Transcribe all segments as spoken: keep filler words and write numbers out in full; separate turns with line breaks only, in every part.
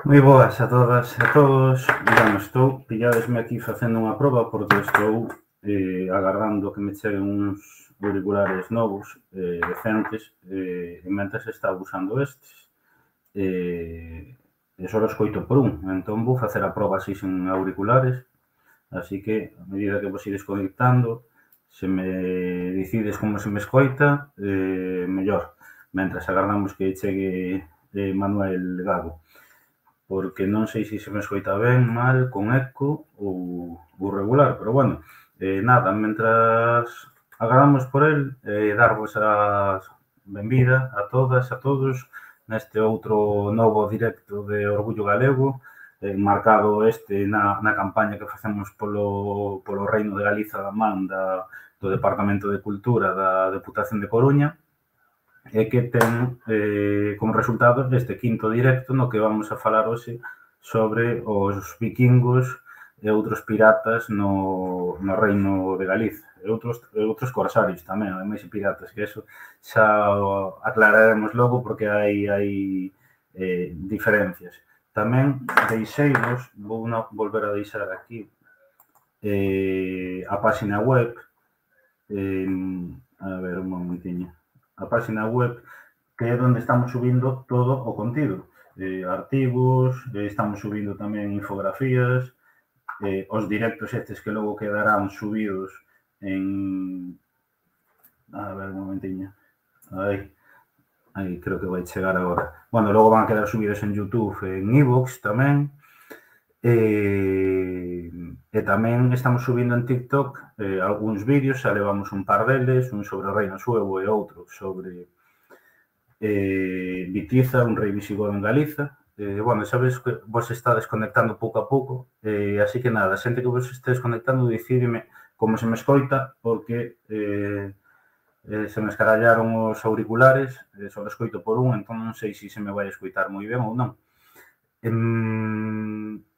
Moi boas a todas e a todos. Digamos, estou, pilladesme aquí facendo unha proba porque estou eh, agardando que me cheguen uns auriculares novos, eh, decentes, eh, e mentres estaba usando estes, eh, e só os coito por un. Entón vou facer a proba así sen auriculares, así que, a medida que vos ides conectando, se me decides como se me escoita, eh, mellor. Mentras agardamos que chegue eh, Manuel Gago, porque non sei se se me escoita ben, mal, con eco ou, ou regular, pero bueno, eh, nada, mentras agardamos por el, eh, darvos a benvida a todas, a todos, neste outro novo directo de Orgullo Galego, eh, marcado este na, na campaña que facemos polo, polo Reino de Galiza da man da, do Departamento de Cultura da Deputación de Coruña, e que ten eh, como resultado este quinto directo no que vamos a falar hoxe sobre os vikingos e outros piratas no, no Reino de Galiza e outros, e outros corsarios tamén, ademais de piratas, que eso xa aclararemos logo porque hai, hai eh, diferencias. Tamén deixeivos, vou na, volver a deixar aquí eh, a página web, eh, a ver un momentiño, a página web, que é onde estamos subindo todo o contido. Eh, artigos, eh, estamos subindo tamén infografías, eh, os directos estes que logo quedarán subidos en... A ver, un momentiño. Aí, aí creo que vai chegar agora. Bueno, logo van a quedar subidos en YouTube, en iVoox tamén. E, e tamén estamos subindo en TikTok eh, algúns vídeos, xa levamos un par deles, un sobre o Reino Suevo e outro sobre eh, Vitiza, un rei visigodo en Galiza. Eh, bueno, sabes que vos está desconectando pouco a pouco, eh, así que nada, xente que vos este desconectando, decidime como se me escoita, porque eh, eh, se me escarallaron os auriculares, eh, só escoito por un, entón non sei se se me vai escoitar moi ben ou non. Eh,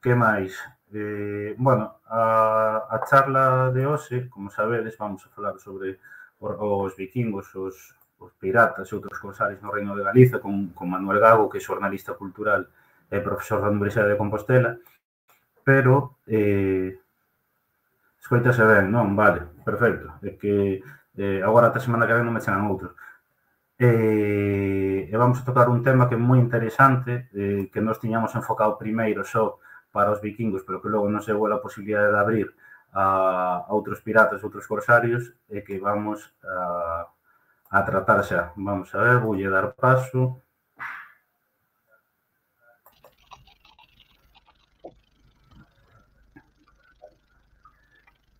que máis? Eh, bueno, a, a charla de hoxe, como sabedes, vamos a falar sobre os vikingos, os, os piratas e outros corsarios no Reino de Galiza con, con Manuel Gago, que é xornalista cultural e profesor da Universidade de Compostela, pero eh, escoitase ben, non? Vale, perfecto. É que eh, agora ata semana que ven non me chegan outros. E, e vamos a tocar un tema que é moi interesante, eh, que nos tiñamos enfocado primeiro só para os vikingos, pero que logo non se houve a posibilidade de abrir a, a outros piratas, outros corsarios, e que vamos a, a tratar xa. Vamos a ver, voulle dar paso.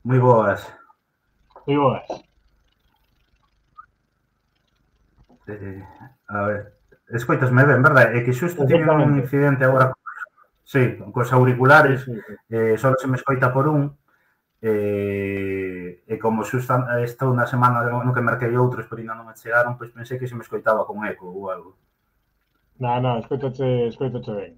Moi boas.
Moi boas.
Eh, a ver, escoitasme ben, verdade? É que xusto tive un incidente agora, sí, cos auriculares, sí, sí, sí. Eh, só se me escoita por un, e, e como xusto estou na semana no que marquei outros, pero ainda non me chegaron, pois pensei que se me escoitaba con eco ou algo.
Non, non, escoitache, escoitache ben.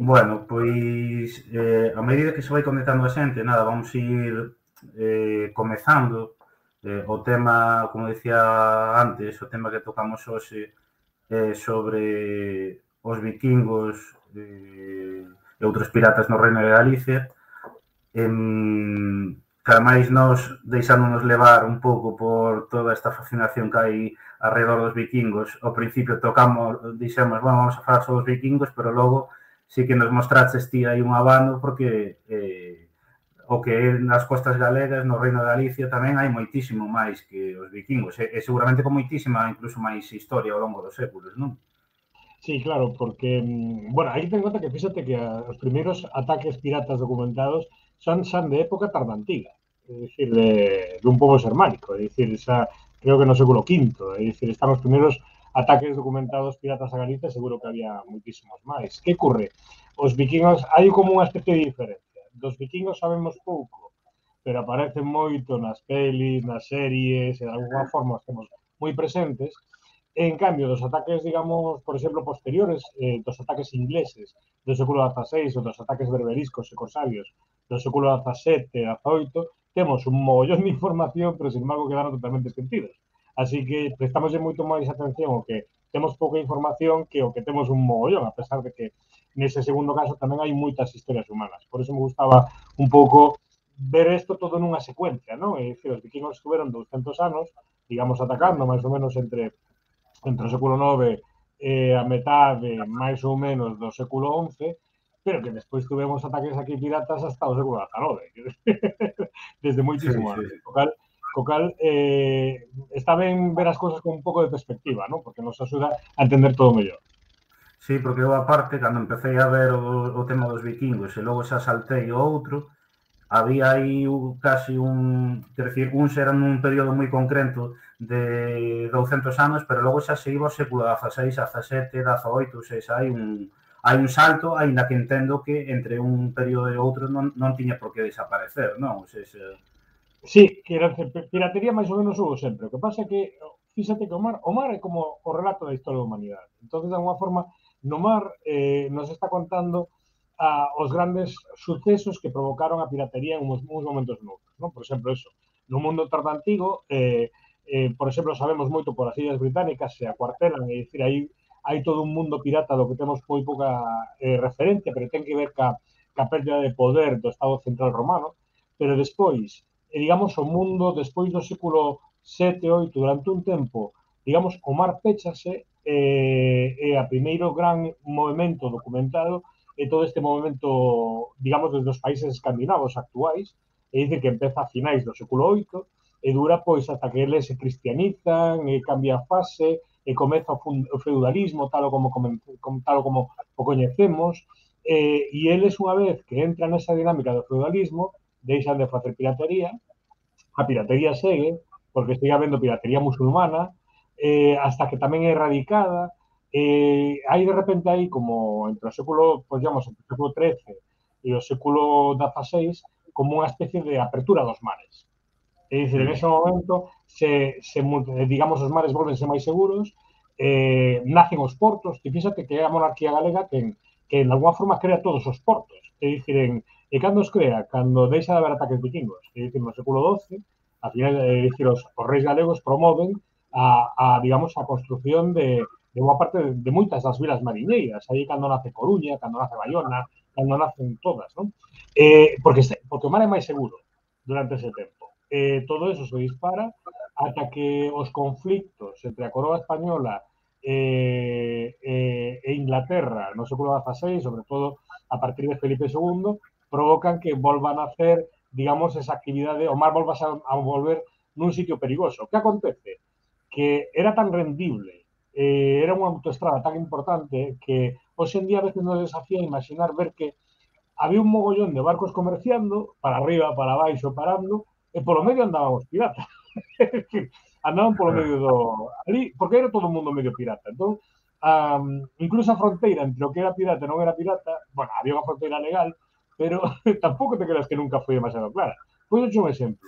Bueno, pois, eh, a medida que se vai conectando a xente, nada, vamos ir eh, comezando. Eh, o tema, como decía antes, o tema que tocamos hoxe é sobre os vikingos eh, e outros piratas no Reino de Galicia. En, que ademais nos deixándonos levar un pouco por toda esta fascinación que hai alrededor dos vikingos. Ao principio tocamos, dixemos, bueno, vamos a falar sobre os vikingos, pero logo sí que nos mostraches ti aí un abano porque eh, o que é nas costas galegas, no Reino de Galicia, tamén hai moitísimo máis que os vikingos, e, e seguramente con moitísima, incluso máis historia ao longo dos séculos, non?
Sí, claro, porque, bueno, hai que ter en conta que fíxate que os primeiros ataques piratas documentados son, son de época tardantiga, é dicir, de, de un pobo xermánico, é dicir, xa, creo que no século quinto, é dicir, están os primeiros ataques documentados piratas a Galicia, seguro que había moitísimos máis. Que ocurre? Os vikingos, hai como unha especie de diferencia. Dos vikingos sabemos pouco, pero aparecen moito nas pelis, nas series, e de alguna forma os temos moi presentes. En cambio, dos ataques, digamos, por exemplo, posteriores, eh, dos ataques ingleses do século dieciséis ou dos ataques berberiscos e corsarios do século dezasete e dezaoito, temos un mogollón de información, pero, sin embargo, quedaron totalmente esquecidos. Así que prestamos moito máis atención ao que temos pouca información que o que temos un mogollón, a pesar de que nese segundo caso tamén hai moitas historias humanas. Por eso me gustaba un pouco ver isto todo nunha secuencia, non? É dicir, os vikingos estuveron douscentos anos, digamos, atacando máis ou menos entre entre o século nove e a metade, máis ou menos, do século once, pero que despois tuvemos ataques aquí piratas hasta o século dezanove, desde
Sí,
moitísimo
sí,
antes.
sí.
O cal, co cal eh, está ben ver as cousas con un pouco de perspectiva, ¿no? Porque nos axuda a entender todo mellor.
Sí, porque eu aparte, cando empecé a ver o, o tema dos vikingos e logo xa saltei o outro, había aí casi un, quer decir, uns eran un período moi concreto de douscentos anos, pero logo xa se iba ao século dieciséis, dezasete, dezaoito, ou seja, hai un, hai un salto, aínda que entendo que entre un período e outro non, non tiña por que desaparecer, non? Ou seja,
Sí, que era piratería máis ou menos hubo sempre. O que pasa é que, fíxate que o mar, o mar é como o relato da historia da humanidade. Entón, de alguma forma, no mar eh, nos está contando a, os grandes sucesos que provocaron a piratería en uns, uns momentos noutros. Non? Por exemplo, eso. No mundo tardantigo, eh, eh, por exemplo, sabemos moito por as Illas Británicas, se acuartelan, é dicir, aí hai todo un mundo pirata do que temos moi pouca eh, referencia, pero ten que ver ca, ca pérdida de poder do Estado Central Romano, pero despois, e, digamos, o mundo despois do século sete, oito, durante un tempo, digamos, o mar péchase eh, e a primeiro gran movimento documentado é todo este movimento, digamos, desde os países escandinavos actuais, e dice que empeza a finais do século oito e dura pois ata que eles se cristianizan e cambia a fase e comeza o feudalismo tal como, como, tal como o coñecemos eh, e eles unha vez que entran nesa dinámica do feudalismo deixan de facer piratería, a piratería segue, porque sigue habendo piratería musulmana, eh, hasta que tamén é erradicada, eh, hai de repente aí como entre o século, pois digamos, entre o século trece e o século dieciséis, como unha especie de apertura dos mares. É dicir, en ese momento, se, se digamos, os mares volvense máis seguros, eh, nacen os portos, e fíxate que é a monarquía galega que, que en alguma forma crea todos os portos. É dicir, en, e cando os crea? Cando deixa de haber ataques vikingos. É dicir, no século doce, a final, é dicir, os, os reis galegos promoven a, a digamos, a construción de, de boa parte de, de moitas das vilas mariñeiras. Aí cando nace Coruña, cando nace Bayona, cando nacen todas, non? Eh, porque, porque o mar é máis seguro durante ese tempo. Eh, todo eso se dispara ata que os conflictos entre a coroa española eh, eh, e Inglaterra no século dieciséis, sobre todo a partir de Felipe segundo, provocan que volvan a hacer, digamos, esa actividade, o mar volva a, a volver nun sitio perigoso. Que acontece? Que era tan rendible, eh, era unha autoestrada tan importante que hoxe en día a veces nos desafía imaginar ver que había un mogollón de barcos comerciando, para arriba, para baixo, parando, e polo medio andaban os piratas. Andaban polo medio do... Ali, porque era todo o mundo medio pirata. Entón, um, incluso a fronteira entre o que era pirata e non era pirata, bueno, había unha fronteira legal, pero tampouco te creas que nunca foi demasiado clara. Pois un exemplo.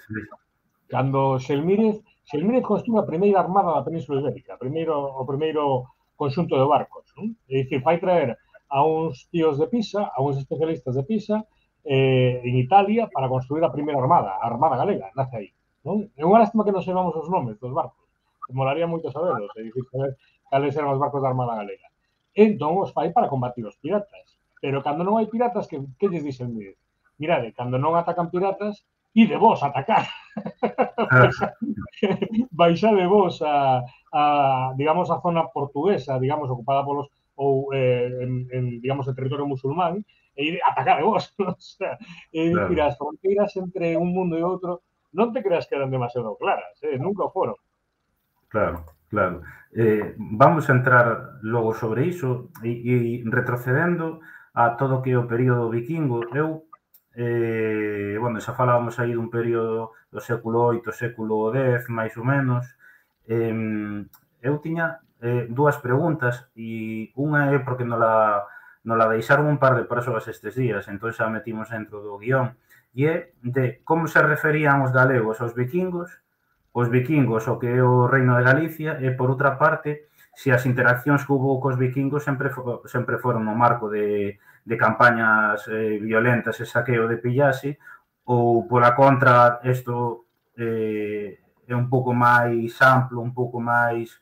Cando Xelmírez, Xelmírez construe a primeira armada da Península Ibérica, primeiro, o primeiro conxunto de barcos. Non? É dicir, vai traer a uns tíos de Pisa, a uns especialistas de Pisa, eh, en Italia, para construir a primeira armada, a Armada Galega, nace aí. Non? É unha lástima que non sabemos os nomes dos barcos. Que molaría moito saberlos, é dicir, saber cales eran os barcos da Armada Galega. Entón, os fai para combatir os piratas. Pero cando non hai piratas, que, que lles dixen? Mirade, cando non atacan piratas, ide vos a atacar. Baixa de vos a, a, digamos, a zona portuguesa, digamos, ocupada polos, ou, eh, en, en, digamos, el territorio musulmán, e ir a atacar de vos. O sea, é dicir,
claro.
as fronteiras entre un mundo e outro non te creas que eran demasiado claras, eh? Nunca foron.
Claro, claro. Eh, vamos a entrar logo sobre iso e, e retrocedendo a todo o que é o período vikingo. Eu, eh, bueno, xa falábamos aí dun período do século oito, século dez, máis ou menos. Eh, eu tiña eh, dúas preguntas e unha é porque nos la, nos la deixaron un par de persoas estes días, entón xa metimos dentro do guión, e é de como se referían os galegos aos vikingos, os vikingos o que é o reino de Galicia, e por outra parte, se as interaccións que hubo cos vikingos sempre, sempre foron no marco de, de campañas eh, violentas e saqueo de pillase, ou pola contra, isto eh, é un pouco máis amplo, un pouco máis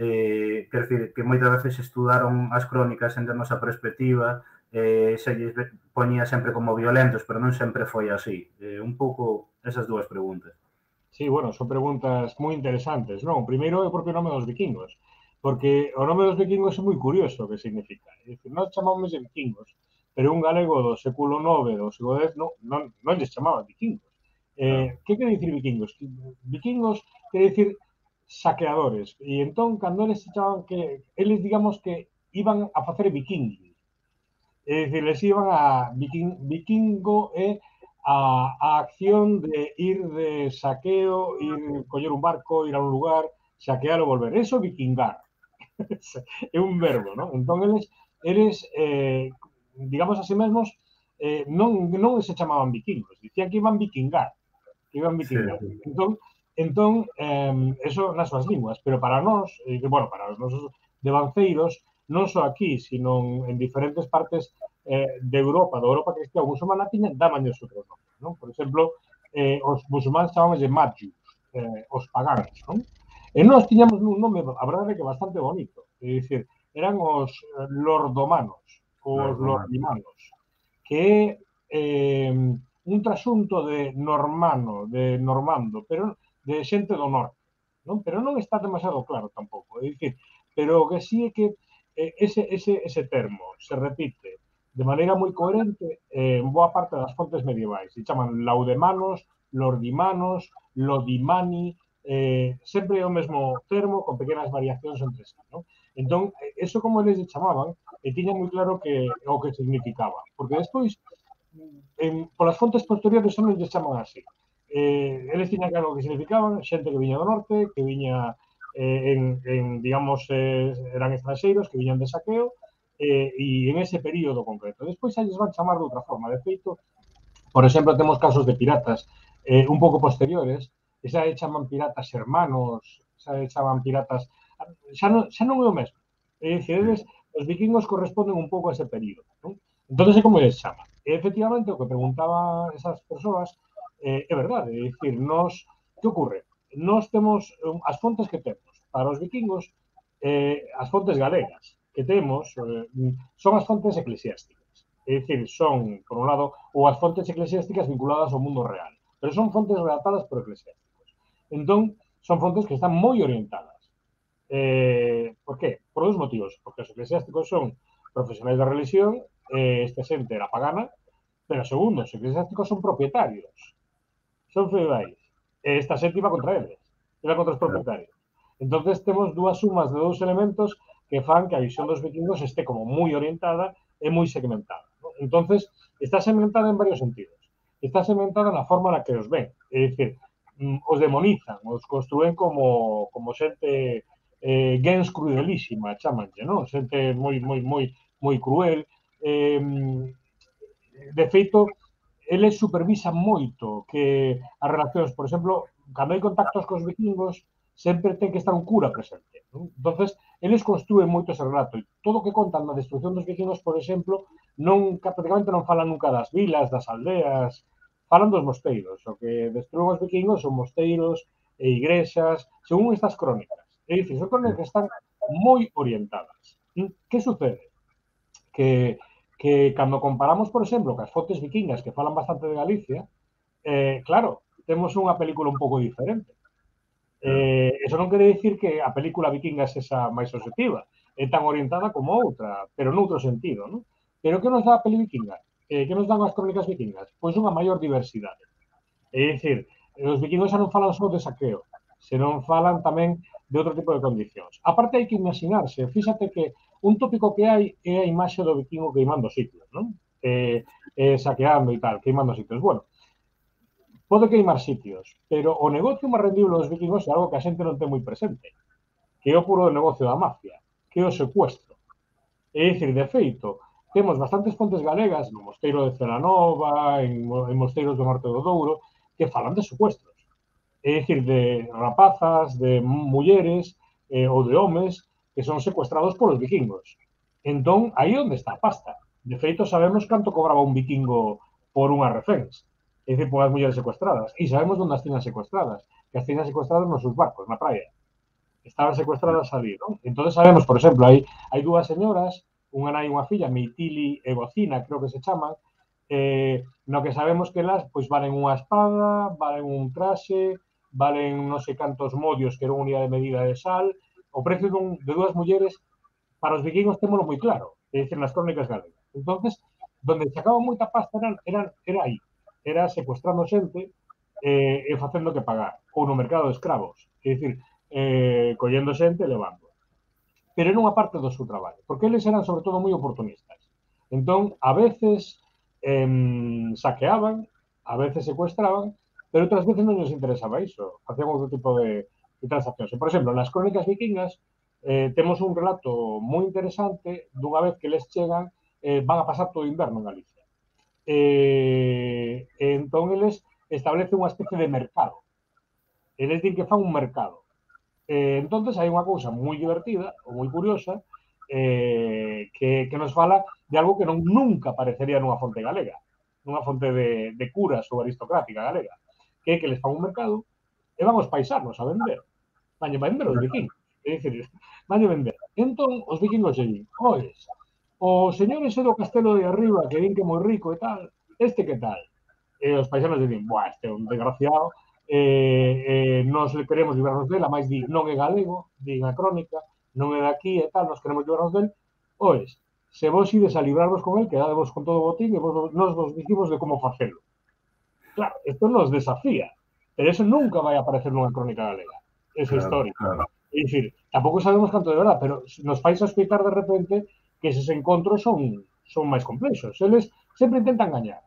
eh, quer dicir, que moitas veces estudaron as crónicas en termos a perspectiva, eh, se lles poñía sempre como violentos, pero non sempre foi así. Eh, un pouco esas dúas preguntas.
Sí, bueno, son preguntas moi interesantes, non? Primeiro é o propio nome dos vikingos, porque o nome dos vikingos é moi curioso o que significa. É dicir, nós chamamos de vikingos, pero un galego do século nove, do século dez, non, non, non lles chamaban vikingos. Eh, que quere dicir vikingos? Vikingos quere dicir saqueadores. E entón, cando eles se chamaban que, eles digamos que iban a facer viking. É dicir, les iban a viking, vikingo é a, a acción de ir de saqueo, ir coller un barco, ir a un lugar, saquear ou volver. Eso é vikingar. É un verbo, non? Entón, eles, eles eh, digamos así mesmos, eh, non, non se chamaban vikingos, dicían que iban vikingar, que iban vikingar.
Sí.
Entón, entón eh, eso nas súas linguas, pero para nós, eh, bueno, para os nosos devanceiros, non só aquí, sino en diferentes partes eh, de Europa, da Europa cristiana musulmana, tiñan damaños outros nomes, non? Por exemplo, eh, os musulmanes chamamos de Magius, eh, os paganos, non? E nós tiñamos un nome, a verdade é que bastante bonito, é dicir, eran os lordomanos, os lordimanos, que é eh, un trasunto de normano, de normando, pero de xente do norte, non? Pero non está demasiado claro tampouco, é dicir, pero o que sí é que eh, ese, ese, ese termo se repite de maneira moi coherente en boa parte das fontes medievais. Se chaman laudemanos, lordimanos, lodimani, eh, sempre é o mesmo termo con pequenas variacións entre sí, non? Entón, eso como eles chamaban, e tiña moi claro que o que significaba. Porque despois, en, polas fontes posteriores, non lles chaman así. Eh, eles tiñan claro o que significaban, xente que viña do norte, que viña eh, en, en, digamos, eh, eran estranxeiros, que viñan de saqueo, eh, e en ese período concreto. Despois xa lles van chamar de outra forma. De feito, por exemplo, temos casos de piratas eh, un pouco posteriores, e xa chaman piratas hermanos, xa chaman piratas... Xa non, xa non é o mesmo. É dicir, eles, os vikingos corresponden un pouco a ese período, non? Entón, é como eles chaman. E, efectivamente, o que preguntaban esas persoas eh, é verdade. É dicir, nos... Que ocorre? Nós temos as fontes que temos. Para os vikingos, eh, as fontes galegas que temos eh, son as fontes eclesiásticas. É dicir, son, por un lado, ou as fontes eclesiásticas vinculadas ao mundo real, pero son fontes redactadas por eclesiásticos. Entón, son fontes que están moi orientadas. Eh, por qué? Por dos motivos. Porque os eclesiásticos son profesionais da religión, eh, esta xente era pagana, pero segundo, os eclesiásticos son propietarios, son feudais, e esta xente iba contra eles, iba contra os propietarios. Entonces temos dúas sumas de dous elementos que fan que a visión dos vikingos este como moi orientada e moi segmentada, ¿no? Entonces, está segmentada en varios sentidos. Está segmentada na forma na que os ven. É dicir, os demonizan, os construen como, como xente eh, gens crudelísima, chamanlle, non? Xente moi, moi, moi, moi cruel. Eh, de feito, eles supervisan moito que as relacións, por exemplo, cando hai contactos cos vikingos, sempre ten que estar un cura presente, non? Entonces, eles construen moito ese relato. E todo o que contan na destrucción dos vikingos, por exemplo, non, prácticamente non falan nunca das vilas, das aldeas, falan dos mosteiros. O que destruen os vikingos son mosteiros e igrexas, según estas crónicas. É dicir, son crónicas que están moi orientadas. Que sucede? Que, que cando comparamos, por exemplo, cas fontes vikingas que falan bastante de Galicia, eh, claro, temos unha película un pouco diferente. Eh, eso non quere dicir que a película vikinga é esa máis objetiva, é tan orientada como outra, pero noutro sentido, non? Pero que nos dá a peli vikinga? Eh, que nos dan as crónicas vikingas? Pois unha maior diversidade. É dicir, os vikingos xa non falan só de saqueo, senón falan tamén de outro tipo de condicións. A parte hai que imaginarse, fíxate que un tópico que hai é a imaxe do vikingo queimando sitios, non? Eh, eh, saqueando e tal, queimando sitios. Bueno, pode queimar sitios, pero o negocio máis rendible dos vikingos é algo que a xente non ten moi presente, que é o puro negocio da mafia, que é o secuestro. É dicir, de feito, temos bastantes fontes galegas no mosteiro de Celanova, en, en mosteiros do norte do Douro, que falan de secuestros. É dicir, de rapazas, de mulleres eh, ou de homes que son secuestrados polos vikingos. Entón, aí onde está a pasta. De feito, sabemos canto cobraba un vikingo por unhas reféns. É dicir, por as mulleres secuestradas. E sabemos onde as tiñan secuestradas. Que as tiñan secuestradas nos seus barcos, na praia. estaban secuestradas ali, non? Entón sabemos, por exemplo, hai, hai dúas señoras, unha nai e unha filla, Meitili e Bocina, creo que se chaman, eh, no que sabemos que elas pois valen unha espada, valen un traxe, valen non sei cantos modios, que era unha unidade de medida de sal, o precio dun, de dúas mulleres para os vikingos témolo moi claro, é dicir, nas crónicas galegas. Entonces, donde sacaban moita pasta eran, eran, era aí, era secuestrando xente eh, e facendo que pagar, ou no mercado de escravos, é dicir, eh, collendo xente e levando. Pero era unha parte do seu traballo, porque eles eran sobre todo moi oportunistas. Entón, a veces eh, saqueaban, a veces secuestraban, pero outras veces non nos interesaba iso, facían outro tipo de, de transaccións. E, por exemplo, nas crónicas vikingas eh, temos un relato moi interesante dunha vez que les chegan, eh, van a pasar todo o inverno en Galicia. Eh, e entón eles establecen unha especie de mercado. Eles din que fan un mercado. Eh, entonces hai unha cousa moi divertida ou moi curiosa eh, que, que nos fala de algo que non nunca aparecería nunha fonte galega, nunha fonte de, de curas ou aristocrática galega, que é que les fan un mercado e van os paisanos a vender. Van a vender os vikingos. É dicir, van a vender. Entón, os vikingos se din, oes, o señor ese do castelo de arriba que din que é moi rico e tal, este que tal? E os paisanos din, buah, este é un desgraciado, eh, eh, nos queremos librarnos dela, máis di, non é galego, di a crónica, non é daqui e tal, nos queremos librarnos del, oes, se vos ides a librarvos con el, quedadevos con todo o botín e vos, nos vos dicimos de como facelo. Claro, isto nos desafía, pero eso nunca vai aparecer nunha crónica galega, esa
Claro,
historia.
claro.
É dicir, tampouco sabemos canto de verdad, pero nos fais a explicar de repente que eses encontros son, son máis complexos. Eles sempre intentan gañar.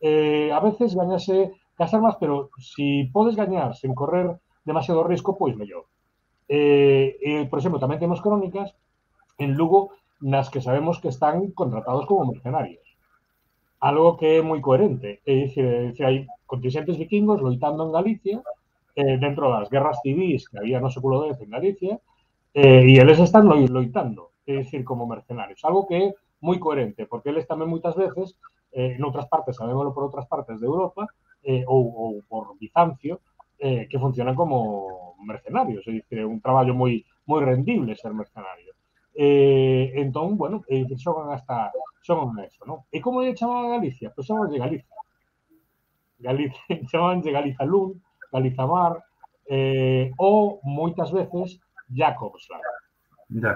Eh, a veces gañase cas armas, pero si podes gañar sen correr demasiado risco, pois mellor. Eh, eh, por exemplo, tamén temos crónicas en Lugo nas que sabemos que están contratados como mercenarios. Algo que é moi coherente. É dicir, é dicir hai contingentes vikingos loitando en Galicia eh, dentro das guerras civís que había no século X en Galicia eh, e eles están loitando, é dicir, como mercenarios. Algo que é moi coherente, porque eles tamén moitas veces eh, en outras partes, sabémoslo por outras partes de Europa, eh, ou, ou por Bizancio, eh, que funcionan como mercenarios, é dicir, é un traballo moi moi rendible ser mercenario. Eh, entón, bueno, é dicir, xogan hasta xogan a eso, non? E como lle chamaban a Galicia? Pois pues de Galicia. Galicia, chamaban de Galiza Lund, Galiza Mar, eh, ou moitas veces Jacobsland,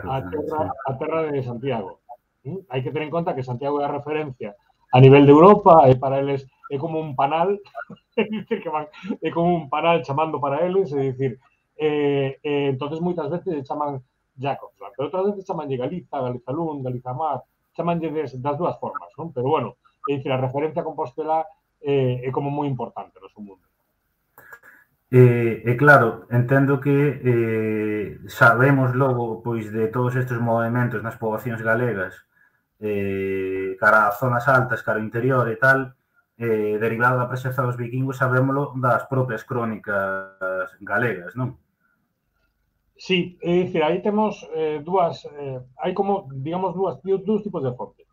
a terra, a terra de Santiago. ¿Mm? Hai que ter en conta que Santiago é a referencia a nivel de Europa e para eles é como un panal, é dicir que van, é como un panal chamando para eles, é dicir, eh, eh, entonces moitas veces chaman Jacobsland, pero outras veces chaman de Galiza, Galiza Lund, Galiza Mar, chaman de, das dúas formas, non? Pero bueno, é dicir, a referencia a Compostela eh, é como moi importante no seu mundo.
E, e claro, entendo que eh, sabemos logo pois de todos estes movimentos nas poboacións galegas eh, cara a zonas altas, cara ao interior e tal, eh, derivado da presenza dos vikingos, sabémolo das propias crónicas galegas, non?
Sí, é dicir, aí temos eh, dúas, eh, hai como, digamos, dúas, dúas tipos de fonte.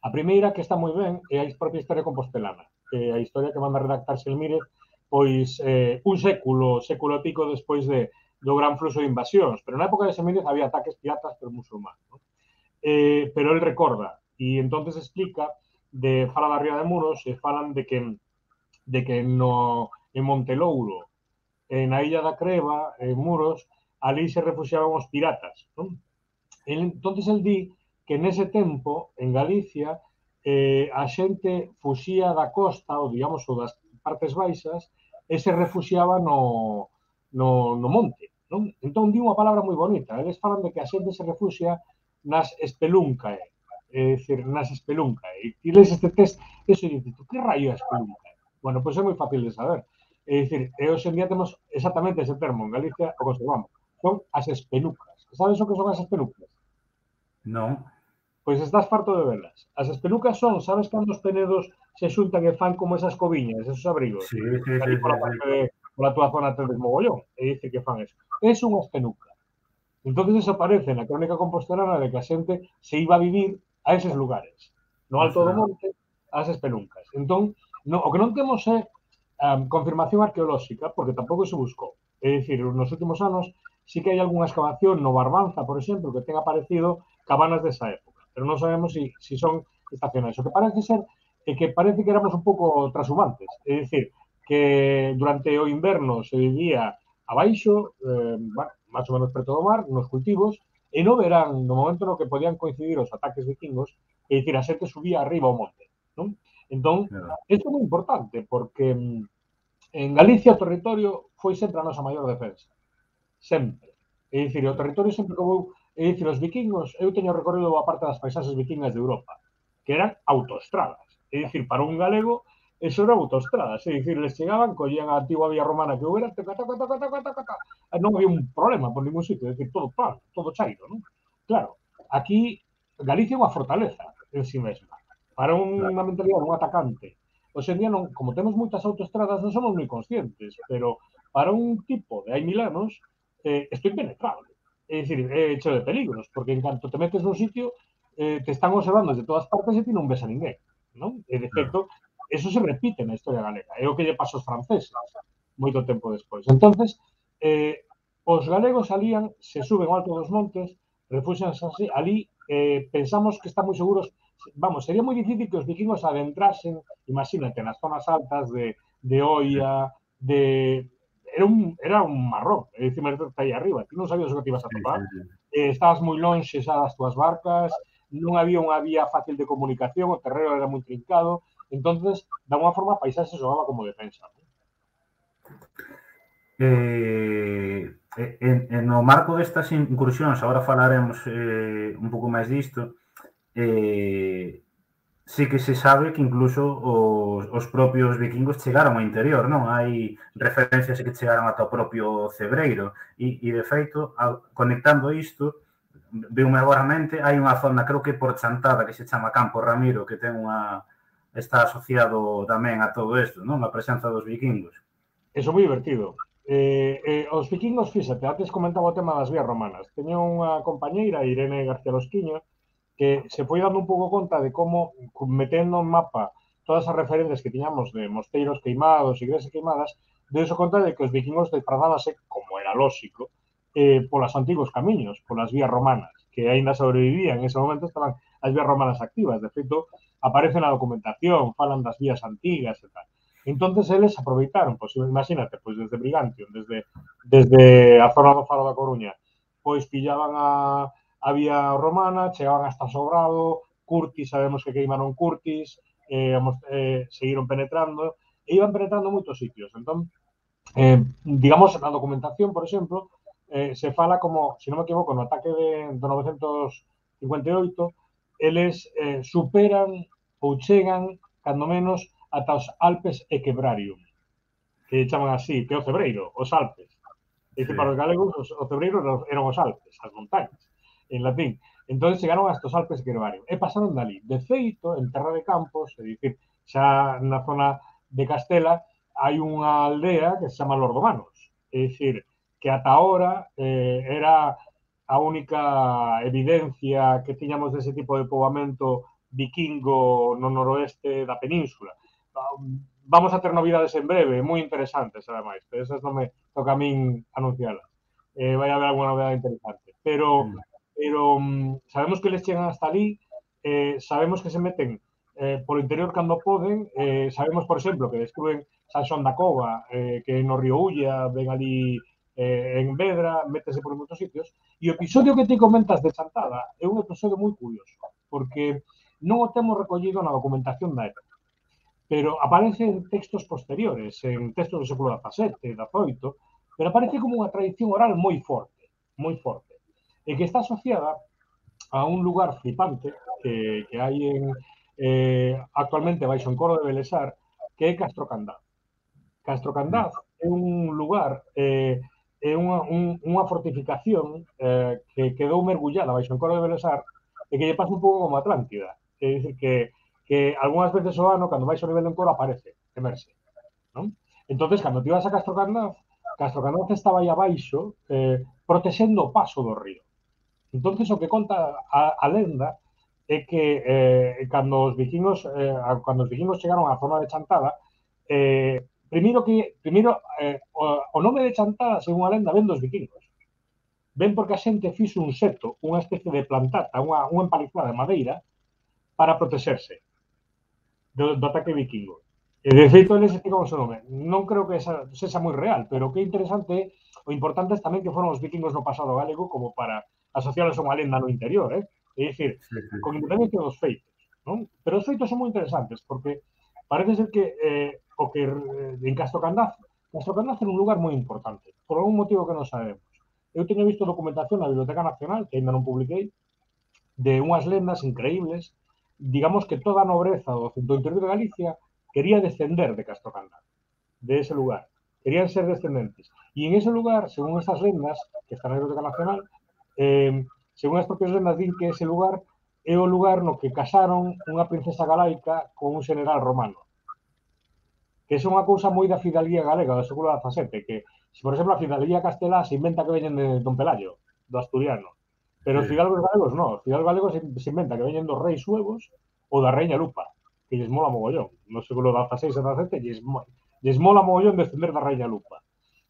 A primeira, que está moi ben, é a propia historia compostelana, que é a historia que manda redactar Selmírez, pois eh, un século, século e pico despois de, do gran fluxo de invasións, pero na época de Semírez había ataques piratas por musulmán, ¿no? eh, pero el recorda, e entonces explica, de fala da Ría de Muros, e falan de que, de que no, en Montelouro, en a Illa da Creva, en Muros, ali se refugiaban os piratas, ¿no? El, entonces el di que nese tempo, en Galicia, eh, a xente fuxía da costa, ou digamos, ou das partes baixas, e se refuxiaba no, no, no monte, non? Entón, di unha palabra moi bonita. Eles falan de que a xente se refuxia nas espeluncae, é dicir, nas espeluncae. E lees este test, eso e dices, que raio é espeluncae? Bueno, pois é moi fácil de saber. É dicir, e hoxe en día temos exactamente ese termo, en Galicia o conservamos. Son as espelucas. Sabes o que son as espelucas?
Non.
Pois estás farto de velas. As espelucas son, sabes cando os penedos se xuntan e fan como esas coviñas, esos abrigos?
Sí, sí, sí,
Aí pola
sí,
parte
sí.
de, pola túa zona tedes mogollón, e dice que fan eso. É unha espeluca. Entón, eso aparece na crónica compostelana de que a xente se iba a vivir a eses lugares. No alto do monte, as espeluncas. Entón, no, o que non temos é um, confirmación arqueolóxica, porque tampouco se buscou. É dicir, nos últimos anos sí que hai algunha excavación no Barbanza, por exemplo, que ten aparecido cabanas desa época, pero non sabemos se si, si son estacionais. O que parece ser é que parece que éramos un pouco transhumantes, é dicir, que durante o inverno se vivía abaixo, eh, bueno, máis ou menos preto do mar, nos cultivos, e no verán, no momento no que podían coincidir os ataques vikingos, é dicir, a xente subía arriba ao monte, non? Entón,
Claro.
isto é moi importante, porque en Galicia o territorio foi sempre a nosa maior defensa. Sempre. É dicir, o territorio sempre que vou... É dicir, os vikingos, eu teño recorrido boa parte das paisaxes vikingas de Europa, que eran autoestradas. É dicir, para un galego, eso era autoestradas. É dicir, les chegaban, collían a antigua vía romana que houbera, taca, taca, taca, taca, taca, taca. Non había un problema por ningún sitio. É dicir, todo pan, todo chairo, non? Claro, aquí Galicia é unha fortaleza en si mesma. Para unha mentalidade, un atacante. Hoxe en día, non, como temos moitas autoestradas, non somos moi conscientes, pero para un tipo de hai mil anos, eh, isto é impenetrable. É dicir, é hecho de peligros, porque en canto te metes nun sitio, eh, te están observando desde todas partes e ti non ves a ninguén, non? E, de feito, eso se repite na historia galega. É o que lle pasa aos franceses moito tempo despois. Entonces, eh, os galegos salían, se suben ao alto dos montes, refúxanse así, ali, eh, pensamos que están moi seguros. Vamos, sería moi difícil que os vikingos adentrasen, imagínate, nas zonas altas de, de Oia, de... Era un, era un marrón, é dicir, está aí arriba, ti non sabías o que te ibas a topar,
Sí, sí, sí.
eh, estabas moi lonxe xa das túas barcas, non había unha vía fácil de comunicación, o terreno era moi trincado, entonces, da unha forma, a paisaxe xogaba como defensa.
Eh, en, en no marco destas incursións, agora falaremos eh, un pouco máis disto, eh, sí que se sabe que incluso os, os propios vikingos chegaron ao interior, non? Hai referencias que chegaron ata o propio Cebreiro e, e de feito, a, conectando isto, veume agora a mente, hai unha zona, creo que por Chantada, que se chama Campo Ramiro, que ten unha está asociado tamén a todo isto, non? A presenza dos vikingos.
Eso é moi divertido. Eh, eh, os vikingos, fíxate, antes comentaba o tema das vías romanas. Teño unha compañeira, Irene García Losquiño, que se foi dando un pouco conta de como, metendo en mapa todas as referencias que tiñamos de mosteiros queimados, iglesias queimadas, deuso conta de que os vikingos desprazábanse, como era lógico, eh, polas antigos camiños, polas vías romanas, que aínda sobrevivían. En ese momento estaban as vías romanas activas. De feito, aparece na documentación, falan das vías antigas e tal. Entonces, eles aproveitaron, pois, imagínate, pois desde Brigantium, desde, desde a zona do Faro da Coruña, pois pillaban a a vía romana, chegaban hasta Sobrado, Curtis, sabemos que queimaron Curtis, eh, eh, seguiron penetrando, e iban penetrando moitos sitios. Entón, eh, digamos, na documentación, por exemplo, eh, se fala como, se non me equivoco, no ataque de, de novecentos cincuenta e oito, eles eh, superan ou chegan, cando menos, ata os Alpes Equebrarium, que chaman así, que é o Cebreiro, os Alpes. É dicir, para os galegos, os, o Cebreiro eran os Alpes, as montañas, en latín. Entón, chegaron hasta os Alpes Equebrarium e pasaron dali. De feito, en Terra de Campos, é dicir, xa na zona de Castela, hai unha aldea que se chama Lordomanos. É dicir, que ata ahora eh, era a única evidencia que tiñamos dese tipo de poboamento vikingo no noroeste da península. Vamos a ter novidades en breve, moi interesantes, ademais, pero esas non me toca a min anuncialas. Eh, vai haber alguna novidade interesante. Pero, pero um, sabemos que les chegan hasta ali, eh, sabemos que se meten eh, por interior cando poden, eh, sabemos, por exemplo, que descubren San Xoán da Cova, eh, que no río Ulla, ven ali eh, en Vedra, métese por moitos sitios, e o episodio que te comentas de Chantada é un episodio moi curioso, porque non o temos recollido na documentación da época, pero aparece en textos posteriores, en textos do século dezasete, dezoito, pero aparece como unha tradición oral moi forte, moi forte, e que está asociada a un lugar flipante que, que hai en, eh, actualmente baixo en Coro de Belesar, que é Castro Candaz. Castro Candaz é un lugar, eh, é unha, un, unha fortificación eh, que quedou mergullada baixo en Coro de Belesar e que lle pasa un pouco como Atlántida. É dicir, que, que algunhas veces o ano, cando baixo o nivel de Encoro, aparece, emerxe. Non? Entonces, cando te ibas a Castro Candaz, Castro Candaz estaba aí abaixo eh, protexendo o paso do río. Entonces, o que conta a, a lenda é que eh, cando os vikingos eh, cando os vikingos chegaron á zona de Chantada, eh, primeiro que primeiro eh, o, o nome de Chantada, según a lenda, ven dos vikingos. ven porque a xente fixo un seto, unha especie de plantata, unha, unha empalizada de madeira para protexerse do, do ataque vikingo. E de feito, eles explicamos o nome. Non creo que esa, sexa moi real, pero que interesante, o importante é tamén que foron os vikingos no pasado galego como para asociarlos a unha lenda no interior, eh? É dicir,
Sí, sí.
con independencia dos feitos, non? Pero os feitos son moi interesantes, porque parece ser que eh, o que eh, en Castro Candaz, Castro Candaz era un lugar moi importante, por algún motivo que non sabemos. Eu teño visto documentación na Biblioteca Nacional, que ainda non publiquei, de unhas lendas increíbles, digamos que toda a nobreza do, do interior de Galicia quería descender de Castro Candaz, de ese lugar. Querían ser descendentes. E en ese lugar, según estas lendas, que están na Biblioteca Nacional, eh, según as propias lendas, din que ese lugar é o lugar no que casaron unha princesa galaica con un general romano. Que é unha cousa moi da fidalguía galega do século dezasete, que, se, por exemplo, a fidalguía castelá se inventa que veñen de Don Pelayo, do asturiano. Pero os
Sí.
fidalgos galegos non. Os fidalgos galegos se, se inventa que veñen dos reis suevos ou da reina Lupa, que lles mola mogollón. No século dezaseis e dezasete lles, lles mola mogollón descender da reina Lupa.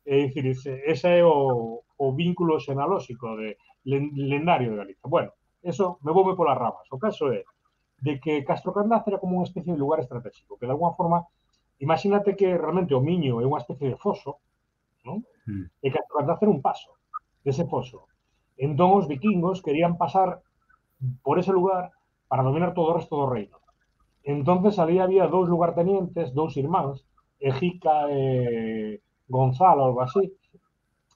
É dicir, ese, ese é o, o vínculo xenalóxico de lendario de Galicia. Bueno, eso me voume polas ramas. O caso é de que Castro Candaz era como unha especie de lugar estratégico, que de alguna forma, imagínate que realmente o Miño é unha especie de foso, non?
Mm.
E Castro Candaz era un paso dese foso. Entón os vikingos querían pasar por ese lugar para dominar todo o resto do reino. Entonces ali había dous lugartenientes, dous irmáns, Ejica e Gonzalo, algo así,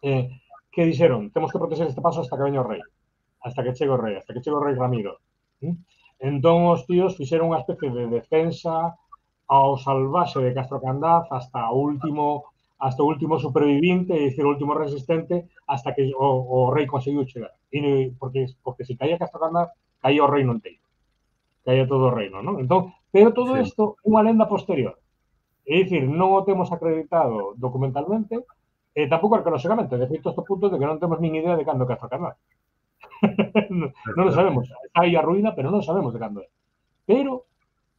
eh, que dixeron, temos que proteger este paso hasta que veña o rei, hasta que chegue o rei, hasta que chegue o rei Ramiro. ¿Mm? Entón os tíos fixeron unha especie de defensa ao salvaxe de Castro Candaz hasta o último hasta o último supervivinte, é dicir, o último resistente, hasta que o, o rei conseguiu chegar. E, porque, porque se caía Castro Candaz, caía o reino inteiro. Caía todo o reino, non? Entón, pero todo isto é unha lenda posterior. É dicir, non o temos acreditado documentalmente, e tampouco arqueolóxicamente. De feito, estos puntos de que non temos nin idea de cando é Castro Candaz. non, non lo sabemos. Está aí a ruína, pero non sabemos de cando é. Pero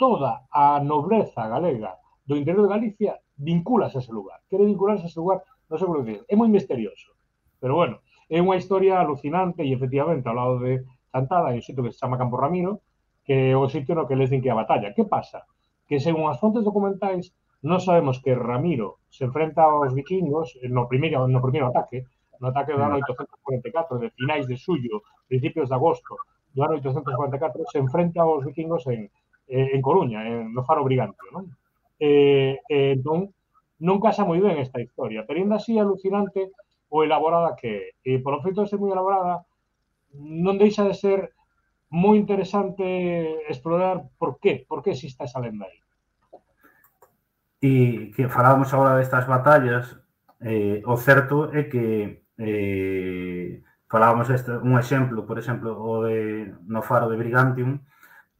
toda a nobreza galega do interior de Galicia vincúlase a ese lugar. Quere vincularse a ese lugar no século diez. É moi misterioso. Pero bueno, é unha historia alucinante e efectivamente ao lado de Chantada, hai un sitio que se chama Campo Ramiro, que é o sitio no que les din que a batalla. Que pasa? Que según as fontes documentais non sabemos que Ramiro se enfrenta aos vikingos no primeiro, no primeiro ataque, no ataque do ano oitocentos cuarenta e catro, de finais de xullo, principios de agosto do ano oitocentos cuarenta e catro, se enfrenta aos vikingos en en Coruña, en, no Faro Brigantio, non? Eh, eh, entón, non casa moi ben esta historia, pero ainda así é alucinante o elaborada que é. E, por o feito de ser moi elaborada, non deixa de ser moi interesante explorar por qué, por que existe esa lenda aí.
E que falábamos agora destas batallas, eh, o certo é que eh, falábamos este, un exemplo, por exemplo, o de no Faro de Brigantium,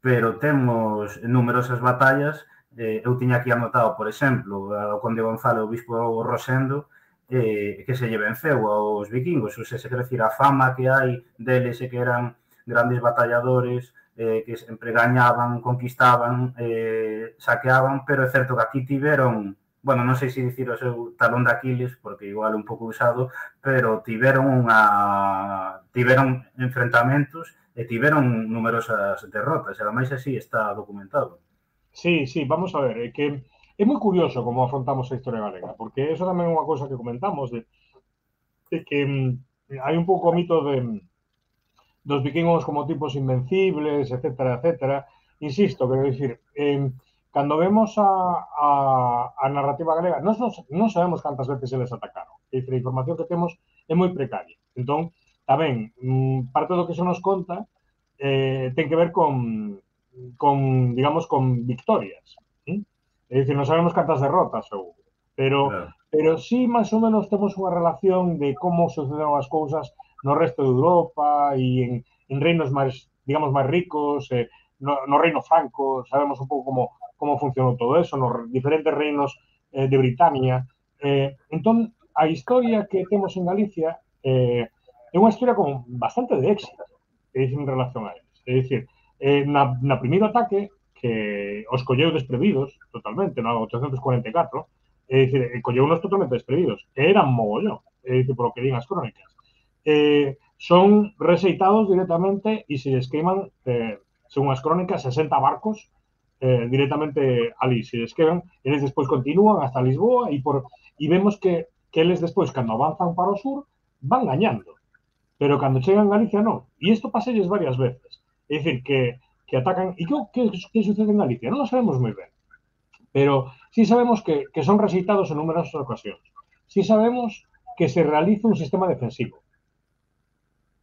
pero temos numerosas batallas. Eh, eu tiña aquí anotado, por exemplo, o conde Gonzalo, o bispo Rosendo, eh, que se lle venceu aos vikingos. O sea, se quer decir, a fama que hai deles é que eran grandes batalladores, eh, que sempre gañaban, conquistaban, eh, saqueaban, pero é certo que aquí tiveron, bueno, non sei se dicir o seu talón de Aquiles, porque igual un pouco usado, pero tiveron unha tiveron enfrentamentos e tiveron numerosas derrotas, e ademais así está documentado.
Sí, sí, vamos a ver, é que é moi curioso como afrontamos a historia galega, porque eso tamén é unha cousa que comentamos, de, de que mm, hai un pouco o mito de dos vikingos como tipos invencibles, etcétera, etcétera. Insisto, quero dicir, eh, cando vemos a, a, a narrativa galega, non, non sabemos cantas veces eles atacaron. É dicir, a información que temos é moi precaria. Entón, tamén, parte do que se nos conta eh, ten que ver con, con digamos, con victorias. ¿sí? É dicir, non sabemos cantas derrotas houve. Pero, claro. pero sí, máis ou menos, temos unha relación de como sucederon as cousas no resto de Europa e en, en reinos máis, digamos, máis ricos, eh, no, no reino franco, sabemos un pouco como, como funcionou todo eso, nos diferentes reinos eh, de Britania. Eh, entón, a historia que temos en Galicia eh, é unha historia con bastante de éxito, é dicir, en relación a eles. É dicir, eh, na, na primeiro ataque, que os colleu desprevidos, totalmente, no oitocentos cuarenta e catro, é dicir, colleu unos totalmente desprevidos, eran mogollón, é dicir, por o que din as crónicas. eh, son rexeitados directamente e se les queiman, eh, según as crónicas, sesenta barcos eh, directamente ali. Se les quedan, eles despois continúan hasta Lisboa e, por, e vemos que, que eles despois, cando avanzan para o sur, van gañando. Pero cando chegan a Galicia, non. E isto paselles varias veces. É dicir, que, que atacan... E que, que, que sucede en Galicia? Non lo sabemos moi ben. Pero sí sabemos que, que son rexeitados en numerosas ocasións. Sí sabemos que se realiza un sistema defensivo.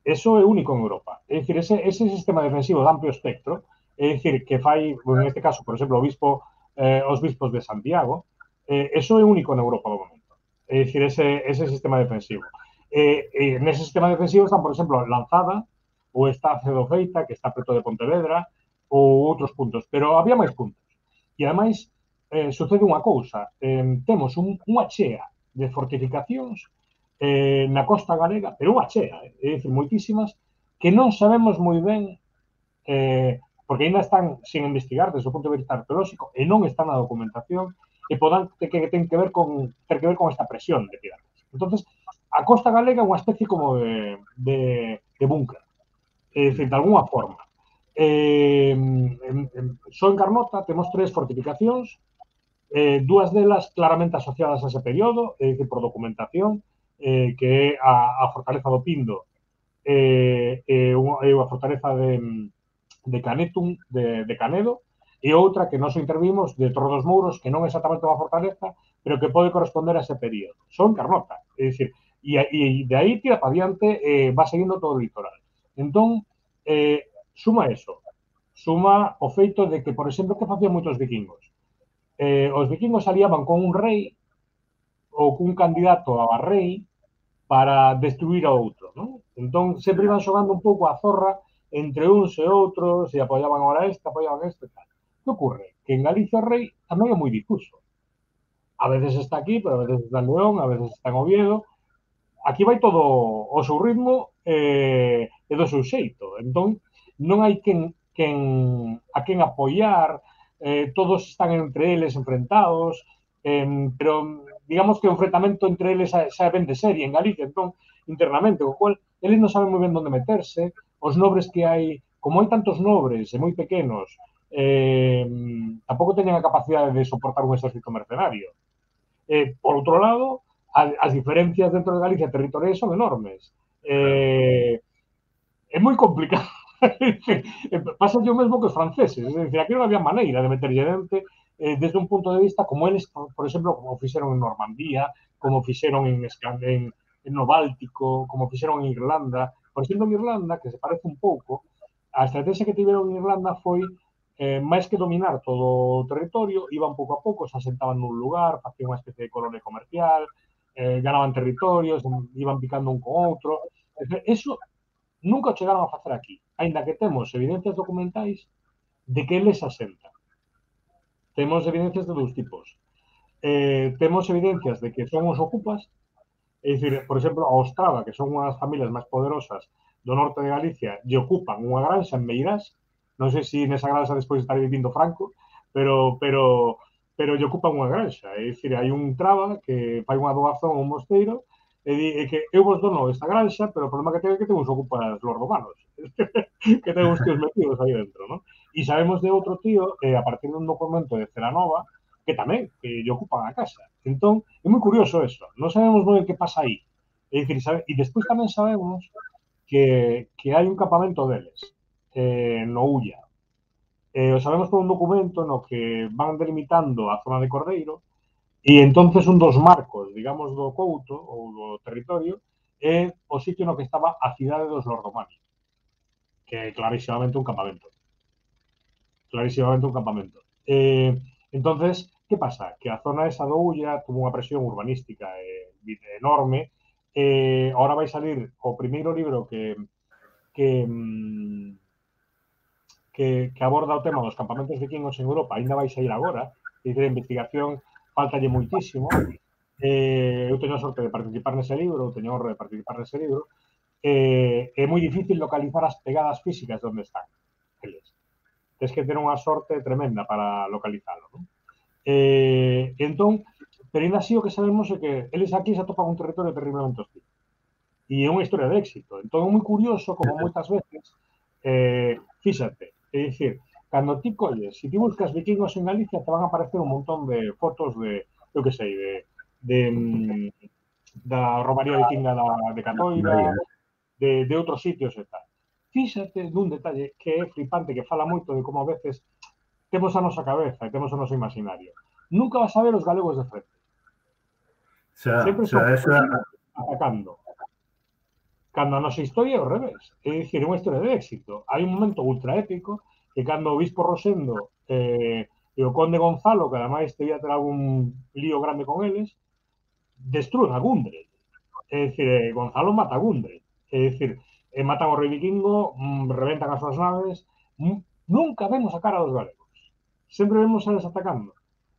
Eso é único en Europa. É dicir, ese, ese sistema defensivo de amplio espectro, é dicir, que fai, en este caso, por exemplo, o bispo, eh, os bispos de Santiago, eh, eso é único en Europa do momento. É dicir, ese, ese sistema defensivo. Eh, eh, nese sistema defensivo están, por exemplo, Lanzada, ou está Cedo Feita, que está preto de Pontevedra, ou outros puntos. Pero había máis puntos. E, ademais, eh, sucede unha cousa. Eh, temos un, unha chea de fortificacións eh, na costa galega, pero unha chea, eh, é dicir, moitísimas, que non sabemos moi ben, eh, porque ainda están sin investigar desde o punto de vista arqueolóxico e non están na documentación e podan que, que ten que ver con ter que ver con esta presión de piratas. Entonces, a costa galega é unha especie como de, de, de búnker, é dicir, de alguna forma. Eh, en, en, só en Carnota temos tres fortificacións, eh, dúas delas claramente asociadas a ese período, é dicir, por documentación, eh, que é a, a Fortaleza do Pindo e eh, eh, a Fortaleza de, de Canetum, de, de Canedo, e outra que nos intervimos de Torre dos Mouros, que non é exactamente unha fortaleza, pero que pode corresponder a ese período. Son Carnota, é dicir, e, e de aí tira para diante, eh, va seguindo todo o litoral. Entón, eh, suma eso, suma o feito de que, por exemplo, que facían moitos vikingos. Eh, os vikingos aliaban con un rei ou cun candidato a rei para destruir a outro, non? Entón, sempre iban xogando un pouco a zorra entre uns e outros, e apoiaban ahora este, apoiaban este e tal. Que ocorre? Que en Galicia o rei tamén é moi difuso. A veces está aquí, pero a veces está en León, a veces está en Oviedo. Aquí vai todo o seu ritmo eh, e do seu xeito. Entón, non hai quen, quen a quen apoiar, eh, todos están entre eles enfrentados, eh, pero digamos que o enfrentamento entre eles xa ven de serie en Galicia, entón, internamente, o cual, eles non saben moi ben onde meterse, os nobres que hai, como hai tantos nobres e moi pequenos, eh, tampouco teñen a capacidade de soportar un exército mercenario. Eh, por outro lado, as diferencias dentro de Galicia territoriais son enormes. Eh, é moi complicado. Pasa o mesmo que os franceses, é dicir, aquí non había maneira de meterlle dente eh, desde un punto de vista como eles, por exemplo, como fixeron en Normandía, como fixeron en, en, en no Báltico, como fixeron en Irlanda. Por exemplo, en Irlanda, que se parece un pouco, a estrategia que tiveron en Irlanda foi eh, máis que dominar todo o territorio, iban pouco a pouco, se asentaban nun lugar, facían unha especie de colonia comercial, eh, ganaban territorios, iban picando un con outro. Eso nunca o chegaron a facer aquí, aínda que temos evidencias documentais de que eles asentan. Temos evidencias de dous tipos. Eh, temos evidencias de que son os ocupas, é dicir, por exemplo, a Ostrava, que son unhas familias máis poderosas do norte de Galicia, lle ocupan unha granxa en Meirás, non sei se nesa granxa despois estaría vivindo Franco, pero pero pero lle ocupan unha granxa, é dicir, hai un traba que fai unha doazón a un mosteiro e di que eu vos dono esta granxa, pero o problema que ten é que ten uns ocupas los romanos, que ten uns tíos metidos aí dentro, non? E sabemos de outro tío, eh, a partir dun documento de Celanova, que tamén, que lle ocupan a casa. Entón, é moi curioso eso. Non sabemos moi que pasa aí. É dicir, sabe, e despois tamén sabemos que, que hai un campamento deles, eh, no Ulla. Eh, o sabemos por un documento no que van delimitando a zona de Cordeiro e entonces un dos marcos, digamos, do Couto ou do territorio é o sitio no que estaba a cidade dos Lordomani, que é clarísimamente un campamento. Clarísimamente un campamento. Eh, entonces, que pasa? Que a zona esa do Ulla tuvo unha presión urbanística eh, enorme. Eh, ahora vai salir o primeiro libro que que, que, que aborda o tema dos campamentos vikingos en Europa, ainda vai sair agora, e de investigación faltalle moitísimo. Eh, eu teño a sorte de participar nese libro, eu teño a honra de participar nese libro, eh, é moi difícil localizar as pegadas físicas de onde están eles. Tens que ter unha sorte tremenda para localizalo, non? Eh, entón, pero ainda así o que sabemos é que eles aquí se atopan un territorio terriblemente hostil. e é unha historia de éxito. Entón é moi curioso como moitas veces, eh, fíxate, é dicir, cando ti colles, se ti buscas vikingos en Galicia, te van a aparecer un montón de fotos de, eu que sei, de, de da romaría vikinga da, de Catoira, de, de outros sitios e tal. Fíxate dun detalle que é flipante, que fala moito de como a veces temos a nosa cabeza e temos o noso imaginario. Nunca vas a ver os galegos de frente. Sempre son atacando. Cando a nosa historia é ao revés. É dicir, é unha historia de éxito. Hai un momento ultra épico que cando o bispo Rosendo eh, e o conde Gonzalo, que ademais debía ter algún lío grande con eles, destruen a Gundre. É dicir, eh, Gonzalo mata a Gundre. É dicir, eh, matan ao rei vikingo, mm, reventan as súas naves. Mm, nunca vemos a cara dos galegos. Sempre vemos a eles atacando.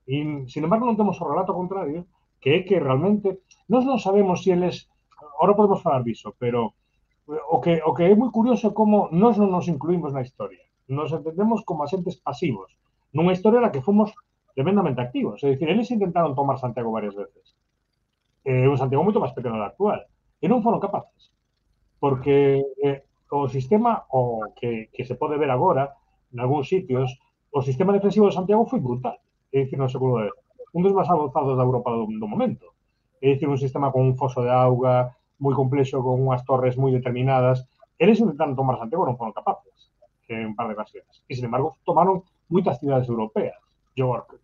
E, sin embargo, non temos o relato contrario, que é que realmente nós non sabemos se eles, ahora podemos falar diso, pero o que, o que é moi curioso é como nós non nos incluímos na historia. Nos entendemos como asentes pasivos nunha historia na que fomos tremendamente activos. É dicir, eles intentaron tomar Santiago varias veces. É un Santiago moito máis pequeno do actual. E non foron capaces. Porque eh, o sistema, o que, que se pode ver agora, en algúns sitios, o sistema defensivo de Santiago foi brutal. É dicir, no século dez. Un dos máis avanzados da Europa do, do momento. É dicir, un sistema con un foso de auga moi complexo, con unhas torres moi determinadas. Eles intentaron tomar Santiago, non foron capaces, que en un par de ocasiones. E, sin embargo, tomaron moitas cidades europeas. York,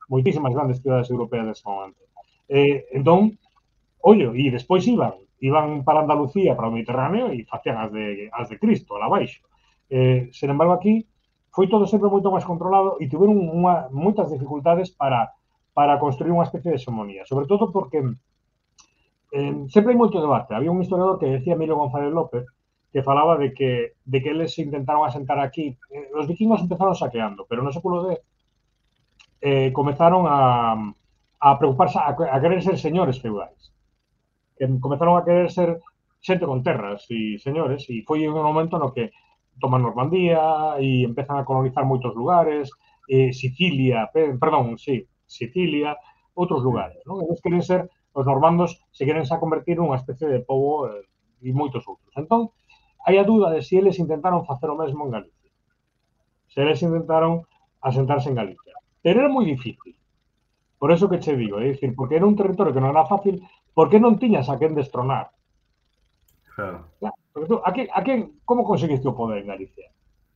moitísimas grandes cidades europeas dese momento. Eh, entón, ollo, e despois iban, iban para Andalucía, para o Mediterráneo, e facían as de, as de Cristo, lá baixo. Eh, sen embargo, aquí foi todo sempre moito máis controlado e tiveron unha, moitas dificultades para, para construir unha especie de hegemonía. Sobre todo porque eh, sempre hai moito debate. Había un historiador que decía Emilio González López que falaba de que, de que eles intentaron asentar aquí. Eh, os vikingos empezaron saqueando, pero no século dez eh, comenzaron a, a preocuparse, a, a querer ser señores feudais. Que comenzaron a querer ser xente con terras e señores, e foi un momento no que toman Normandía e empezan a colonizar moitos lugares, eh, Sicilia, perdón, sí, Sicilia, outros lugares, non? Eles queren ser, os normandos se queren xa convertir nunha especie de pobo eh, e moitos outros. Entón, hai a dúda de se eles intentaron facer o mesmo en Galicia. Se eles intentaron asentarse en Galicia. Pero era moi difícil. Por eso que che digo, é dicir, porque era un territorio que non era fácil, porque non tiñas a quen destronar.
Claro.
Claro, porque tú, a que, a que, como conseguiste o poder en Galicia?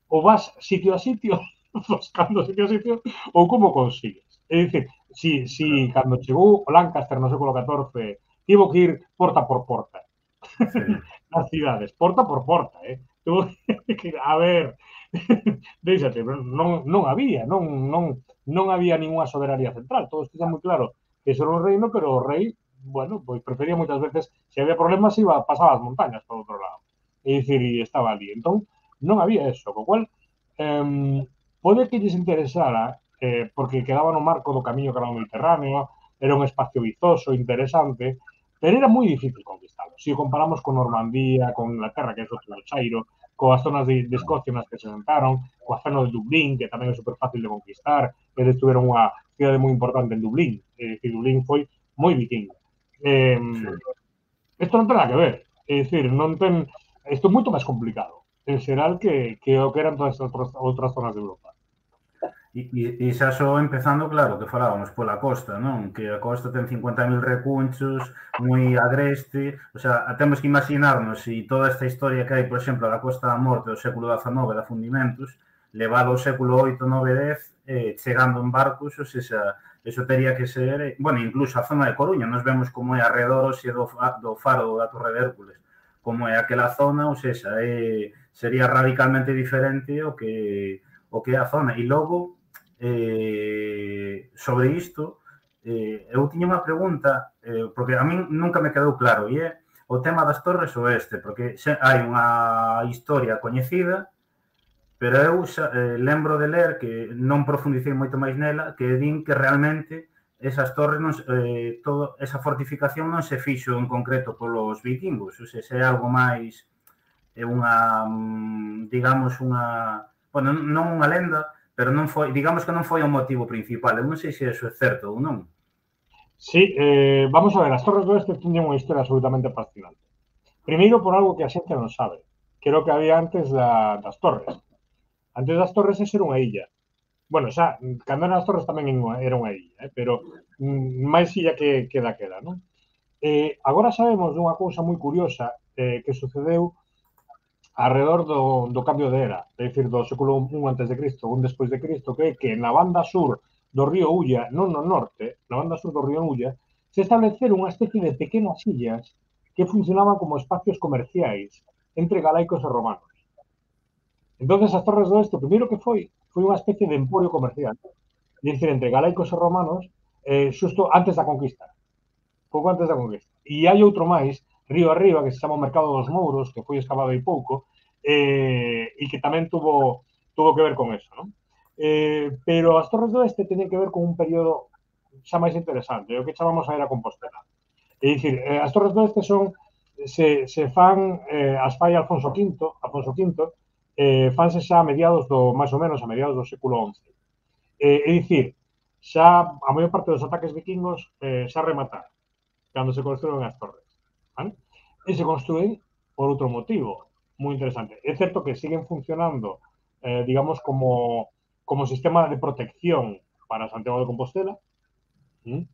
Ou vas sitio a sitio, buscando sitio a sitio, ou como consigues? É dicir, si, si cando chegou o Lancaster no século catorce, tivo que ir porta por porta. Sí. Nas cidades, porta por porta, eh? Tuvo que ir, a ver, déixate, non, non había, non, non, non había ninguna soberanía central. Todos tiñan moi claro que eso era un reino, pero o rei, bueno, pois prefería moitas veces, se había problemas, iba, pasaba as montañas por outro lado. É dicir, e estaba ali. Entón, non había eso, co cual, eh, pode que lles interesara, eh, porque quedaba no marco do camiño cara ao Mediterráneo, era un espacio vizoso, interesante, pero era moi difícil conquistarlo. Se si comparamos con Normandía, con Inglaterra, que é outro chairo, coas zonas de, de Escocia nas que se sentaron, coa zona de Dublín, que tamén é super fácil de conquistar, eles tuveron unha cidade moi importante en Dublín, é dicir, Dublín foi moi vikingo. Eh, isto non ten nada que ver, é dicir, non ten, isto é moito máis complicado, en xeral, que, que o que eran todas as outras, outras zonas de Europa.
E, e, e xa só empezando, claro, que falábamos pola costa, non? Que a costa ten cincuenta mil recunchos, moi agreste, o sea, temos que imaginarnos se toda esta historia que hai, por exemplo, da Costa da Morte do século dezanove, da Fundimentos, levado ao século oito, nove, dez, eh, chegando en barcos, ou seja, eso teria que ser, bueno, incluso a zona de Coruña, nos vemos como é arredor xe do, do faro da Torre de Hércules, como é aquela zona, ou seja, eh, sería radicalmente diferente o que, o que é a zona. E logo, Eh, sobre isto, eh, eu tiña unha pregunta, eh, porque a min nunca me quedou claro, e é o tema das Torres Oeste, porque xe, hai unha historia coñecida, pero eu xa, eh, lembro de ler, que non profundicei moito máis nela, que din que realmente esas torres, non, eh, todo, esa fortificación non se fixo en concreto polos vikingos, ou seja, é algo máis, é unha, digamos, unha, bueno, non unha lenda, pero non foi, digamos que non foi o motivo principal. Eu non sei se iso é certo ou non.
Sí, eh, vamos a ver, as Torres do Oeste tiñen unha historia absolutamente fascinante. Primeiro por algo que a xente non sabe, que era o que había antes da, das torres. Antes das torres ese era unha illa. Bueno, xa, cando eran as torres tamén era unha illa, eh? Pero mm, máis illa que, que daquela, non? Eh, agora sabemos dunha cousa moi curiosa eh, que sucedeu alrededor do, do cambio de era, é dicir, do século un antes de Cristo, un despois de Cristo, que é que na banda sur do río Ulla, non no norte, na banda sur do río Ulla, se estableceron unha especie de pequenas illas que funcionaban como espacios comerciais entre galaicos e romanos. Entonces as Torres do Oeste, o primeiro que foi, foi unha especie de emporio comercial, é dicir, entre galaicos e romanos, eh, xusto antes da conquista, pouco antes da conquista. E hai outro máis, río arriba, que se chama o Mercado dos Mouros, que foi excavado hai pouco, eh, e que tamén tuvo, tuvo que ver con eso, non? Eh, pero as Torres do Oeste teñen que ver con un período xa máis interesante, o que chamamos a era Compostela. É dicir, eh, as Torres do Oeste son, se, se fan, eh, as fai Alfonso quinto, Alfonso quinto, eh, fanse xa a mediados do, máis ou menos, a mediados do século once. Eh, é dicir, xa a maior parte dos ataques vikingos eh, xa remataron cando se construen as torres. ¿Vale? E se construen por outro motivo moi interesante. É certo que siguen funcionando, eh, digamos, como, como sistema de protección para Santiago de Compostela, ¿sí?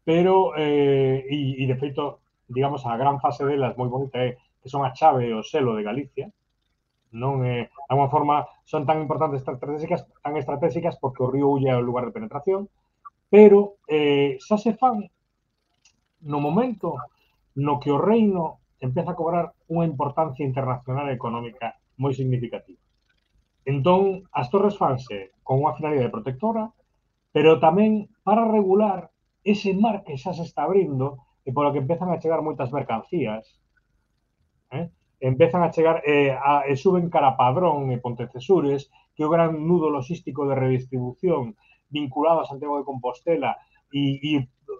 Pero, eh, e, e de feito, digamos, a gran fase delas moi bonita é que son a chave e o selo de Galicia, non é, de alguma forma, son tan importantes estratégicas, tan estratégicas porque o río Ulla é o lugar de penetración, pero eh, xa se fan no momento no que o reino empeza a cobrar unha importancia internacional e económica moi significativa. Entón, as torres fanse con unha finalidade protectora, pero tamén para regular ese mar que xa se está abrindo e polo que empezan a chegar moitas mercancías, eh? empezan a chegar eh, a, e suben cara Padrón e Pontecesures, que é o gran nudo logístico de redistribución vinculado a Santiago de Compostela e, e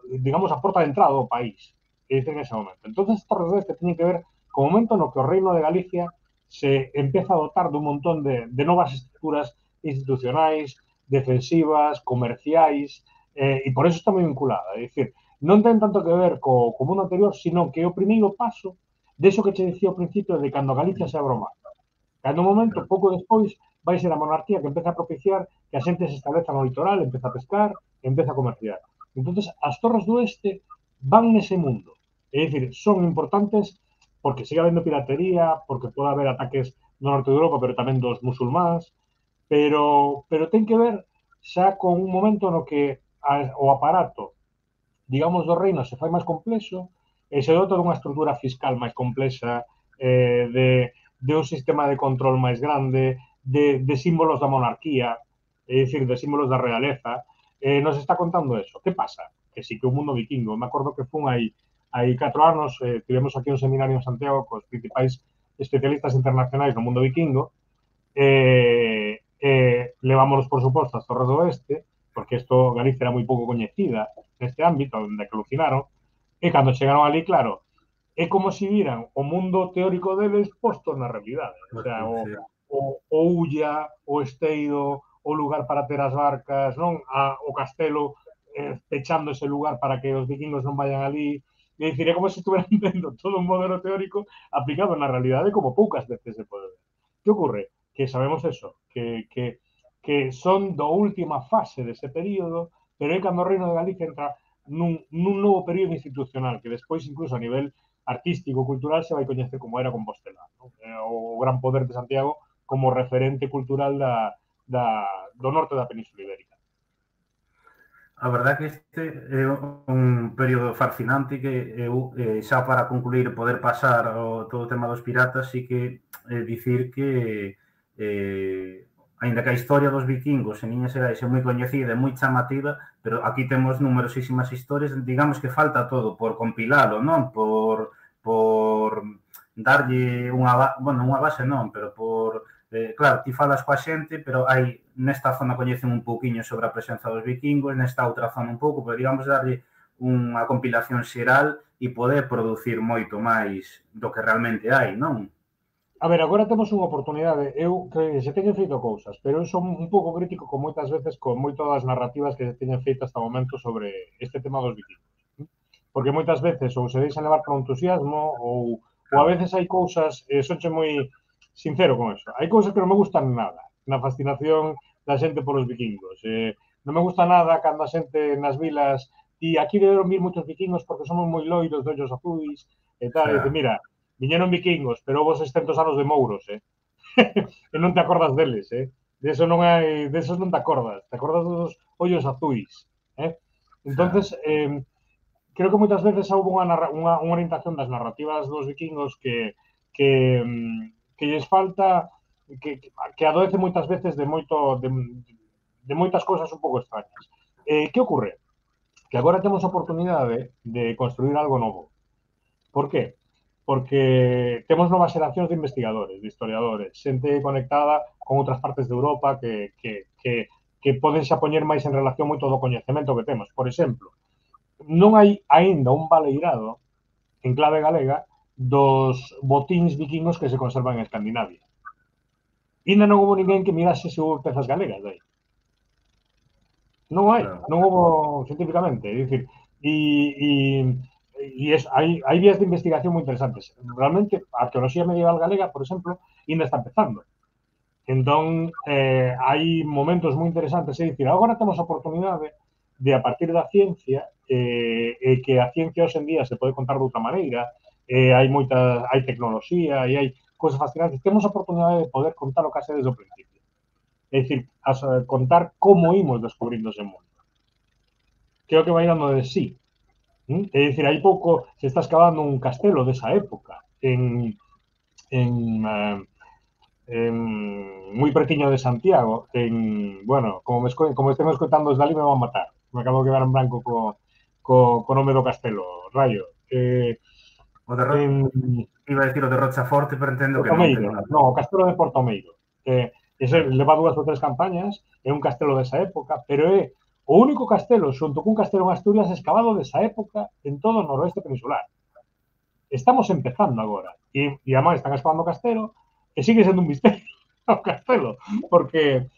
digamos, a porta de entrada do país, que dice en ese momento. Entón, estas redes que teñen que ver co momento no que o Reino de Galicia se empeza a dotar dun montón de, de novas estructuras institucionais, defensivas, comerciais, eh, e por eso está moi vinculada. É dicir, non ten tanto que ver co, co mundo anterior, sino que o primeiro paso de eso que che dicía ao principio de cando Galicia se abre o mar. Cando un momento, pouco despois, vai ser a monarquía que empeza a propiciar que a xente se estableza no litoral, empeza a pescar, empeza a comerciar. Entonces, as Torres do Oeste van nese mundo. É dicir, son importantes porque sigue habendo piratería, porque pode haber ataques no norte de Europa, pero tamén dos musulmáns, pero, pero ten que ver xa con un momento no que a, o aparato, digamos, do reino se fai máis complexo e se dota dunha estrutura fiscal máis complexa, eh, de, de un sistema de control máis grande, de, de símbolos da monarquía, é dicir, de símbolos da realeza, eh, nos está contando eso. Que pasa? Que sí que o mundo vikingo, me acordo que fun aí, hai catro anos, eh, tivemos aquí un seminario en Santiago cos principais especialistas internacionais no mundo vikingo, eh, eh, levámonos, por suposto, as Torres do Oeste, porque isto Galicia era moi pouco coñecida neste ámbito, onde que alucinaron, e cando chegaron ali, claro, é como se viran o mundo teórico deles posto na realidade. O sea, o, o, o Ulla, o Esteiro, o lugar para ter as barcas, non? A, o castelo eh, pechando ese lugar para que os vikingos non vayan ali. E dicir, é como se estuveran vendo todo un modelo teórico aplicado na realidade como poucas veces se pode ver. Que ocorre? Que sabemos eso, que, que, que son da última fase dese período, pero é cando o Reino de Galicia entra nun, nun novo período institucional, que despois, incluso a nivel artístico, cultural, se vai coñecer como era Compostela, ¿no? O gran poder de Santiago como referente cultural da, da, do norte da Península Ibérica.
A verdade que este é un período fascinante que eu, eh, xa para concluir, poder pasar o, todo o tema dos piratas, sí que eh, dicir que eh, aínda que a historia dos vikingos en Liñas Xerais é moi coñecida e moi chamativa, pero aquí temos numerosísimas historias, digamos que falta todo por compilalo, non? Por, por darlle unha, bueno, unha base non, pero por Eh, claro, ti falas coa xente, pero hai nesta zona coñecen un pouquiño sobre a presenza dos vikingos, nesta outra zona un pouco, pero digamos darlle unha compilación xeral e poder producir moito máis do que realmente hai, non?
A ver, agora temos unha oportunidade. Eu que se teñen feito cousas, pero eu son un pouco crítico con moitas veces con moitas das narrativas que se teñen feito hasta o momento sobre este tema dos vikingos. Porque moitas veces ou se deixan levar por entusiasmo ou, ou a veces hai cousas, eh, sonche moi sincero con eso, hai cousas que non me gustan nada na fascinación da xente polos vikingos. Eh, non me gusta nada cando a xente nas vilas e aquí deberon vir moitos vikingos porque somos moi loiros, de ollos azuis e tal, e dice, mira, viñeron vikingos, pero houve seiscentos anos de mouros, eh? E non te acordas deles, eh? De eso non hai, de esos non te acordas, te acordas dos ollos azuis, eh? Entonces, eh, creo que moitas veces houve unha, unha, unha orientación das narrativas dos vikingos que que, que lles falta, que, que adoece moitas veces de moito de, de moitas cousas un pouco extrañas. Eh, que ocorre? Que agora temos a oportunidade de construir algo novo. Por qué? Porque temos novas xeracións de investigadores, de historiadores, xente conectada con outras partes de Europa que, que, que, que podense a poñer máis en relación moito do coñecemento que temos. Por exemplo, non hai aínda un baleirado en clave galega dos botíns vikingos que se conservan en Escandinavia. Ainda non houve ninguén que mirase se houve pezas galegas aí. Non hai, non houve científicamente. É dicir, e, e, e es, hai, hai vías de investigación moi interesantes. Realmente, a arqueoloxía medieval galega, por exemplo, ainda está empezando. Entón, eh, hai momentos moi interesantes. É dicir, agora temos a oportunidade de, a partir da ciencia, eh, eh, que a ciencia hoxe en día se pode contar de outra maneira, eh, hai moita, hai tecnoloxía e hai cousas fascinantes. Temos a oportunidade de poder contar o case desde o principio. É dicir, as, contar como imos descubrindo ese mundo. Que é o que vai dando de sí. ¿Mm? É dicir, hai pouco se está excavando un castelo desa época en, en, uh, en moi pertiño de Santiago, en, bueno, como me, como estén escoitando desde ali me van a matar. Me acabo de quedar en branco co, co, co nome do castelo, rayo. Eh,
O de Ro... en... Iba a decir o de Rochaforte, pero entendo que non ten nada.
No, o castelo de Portomeiro. Eh, ese claro. Leva dúas ou tres campañas, é un castelo desa época, pero é o único castelo, xunto cun castelo en Asturias, escavado desa época en todo o noroeste peninsular. Estamos empezando agora. E, e además están excavando o castelo e sigue sendo un misterio o castelo, porque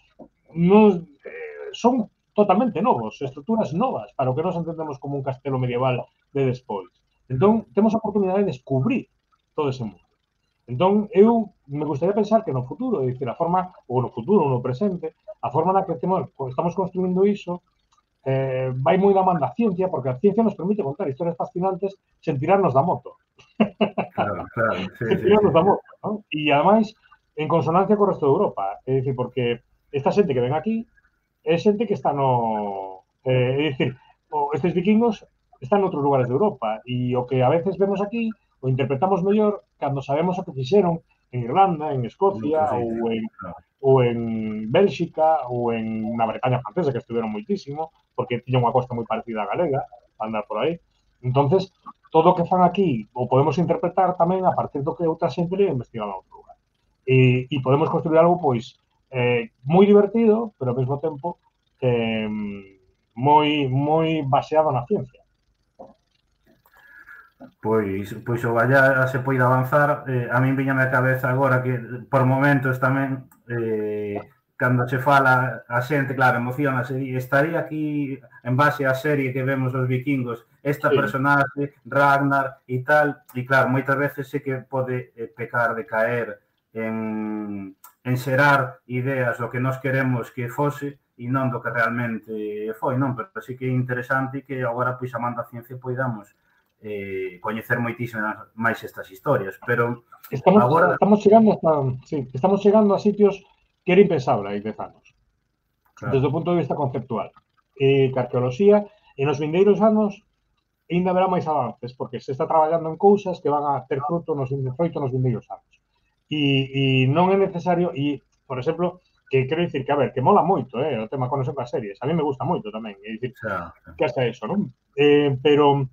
nos, eh, son totalmente novos, estruturas novas, para o que nos entendemos como un castelo medieval de despois. Entón, temos a oportunidade de descubrir todo ese mundo. Entón, eu me gustaría pensar que no futuro, é dicir, a forma, ou no futuro, ou no presente, a forma na que temos, estamos construindo iso, eh, vai moi da man da ciencia, porque a ciencia nos permite contar historias fascinantes sen tirarnos da moto.
Claro, claro. Sí,
sen tirarnos
sí, sí.
da moto, ¿no? E, ademais, en consonancia co resto de Europa. É dicir, porque esta xente que ven aquí é xente que está no... Eh, é dicir, estes vikingos están en outros lugares de Europa e o que a veces vemos aquí o interpretamos mellor cando sabemos o que fixeron en Irlanda, en Escocia sí, ou, en, claro. ou en Bélxica ou en na Bretaña francesa que estuvieron moitísimo porque tiña unha costa moi parecida a galega para andar por aí. Entonces, todo o que fan aquí o podemos interpretar tamén a partir do que outra xente le investigado en outro lugar. E, e podemos construir algo pois eh, moi divertido, pero ao mesmo tempo eh, moi moi baseado na ciencia.
Pois, pois o valla se poida avanzar, eh, a min viñame a cabeza agora que por momentos tamén eh, cando se fala a xente, claro, emocionase, estaría aquí en base á serie que vemos dos vikingos, esta sí. personaxe, Ragnar e tal, e claro, moitas veces sí que pode eh, pecar de caer en, en xerar ideas do que nós queremos que fose e non do que realmente foi, non? Pero sí que é interesante que agora, pois, a man da ciencia poidamos eh, coñecer moitísimas máis estas historias, pero
estamos,
agora...
Estamos chegando hasta, sí, estamos chegando a sitios que era impensable hai dez anos, claro. Desde o punto de vista conceptual. Eh, que a arqueoloxía, en os vindeiros anos, ainda haberá máis avances, porque se está traballando en cousas que van a ter fruto nos, froito nos vindeiros anos. E, e non é necesario, e, por exemplo, que quero dicir que, a ver, que mola moito, eh, o tema conexión coas series, a mí me gusta moito tamén, é dicir, claro. Que hasta eso, non? Eh, pero...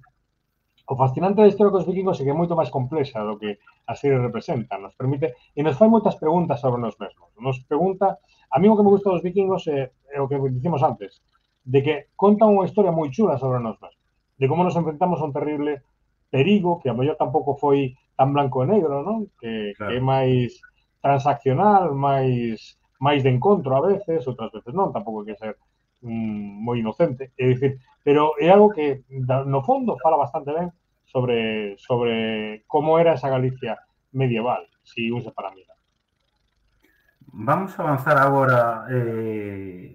O fascinante da historia dos vikingos é que é moito máis complexa do que a serie representa. Nos permite, e nos fai moitas preguntas sobre nós mesmos. Nos pregunta, a mí o que me gusta dos vikingos é, é o que dicimos antes, de que contan unha historia moi chula sobre nós mesmos. De como nos enfrentamos a un terrible perigo, que a mellor tampouco foi tan blanco e negro, non? Que, claro. Que é máis transaccional, máis, máis de encontro a veces, outras veces non, tampouco hai que ser mm, moi inocente. É dicir, pero é algo que, no fondo, fala bastante ben sobre, sobre como era esa Galicia medieval, si un se para mirar.
Vamos a avanzar agora eh,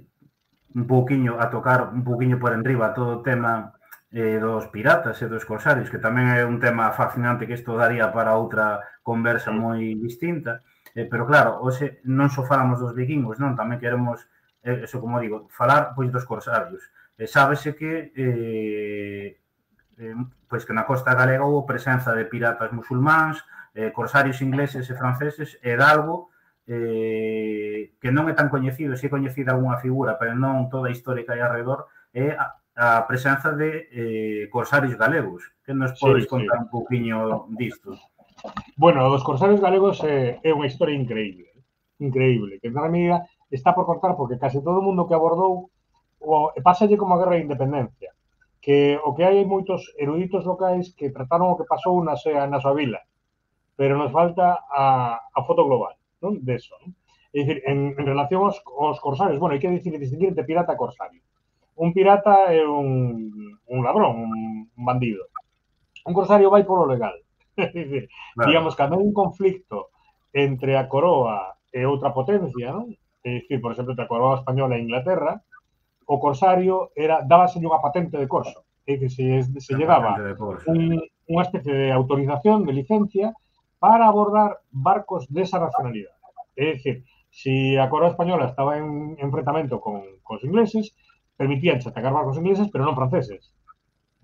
un pouquiño, a tocar un pouquiño por enriba todo o tema eh, dos piratas e dos corsarios, que tamén é un tema fascinante que isto daría para outra conversa moi distinta. Eh, pero claro, hoxe non só falamos dos vikingos, non? Tamén queremos, eh, eso como digo, falar pois dos corsarios. E sábese que eh, eh, pois que na costa galega houve presenza de piratas musulmáns, eh, corsarios ingleses e franceses, e de algo eh, que non é tan coñecido, se é coñecida algunha figura, pero non toda a historia que hai alrededor, é a, a presenza de eh, corsarios galegos. Que nos podes
Sí,
contar
sí.
un pouquiño disto?
Bueno, dos corsarios galegos é, é unha historia increíble, increíble, que na medida está por contar porque case todo o mundo que abordou o, pásalle como a Guerra de Independencia, que o que hai moitos eruditos locais que trataron o que pasou na, na súa vila, pero nos falta a, a foto global, non? De eso, non? É dicir, en, en relación aos, aos corsarios, bueno, hai que dicir, distinguir entre pirata e corsario. Un pirata é un, un ladrón, un, un bandido. Un corsario vai polo legal. É dicir, claro. Digamos, cando hai un conflicto entre a coroa e outra potencia, non? É dicir, por exemplo, entre a coroa española e Inglaterra, o corsario era, dábase unha patente de corso. É dicir, se, se lle daba un, unha especie de autorización, de licencia, para abordar barcos desa nacionalidade. É dicir, se a coroa española estaba en enfrentamento con, con os ingleses, permitían atacar barcos ingleses, pero non franceses.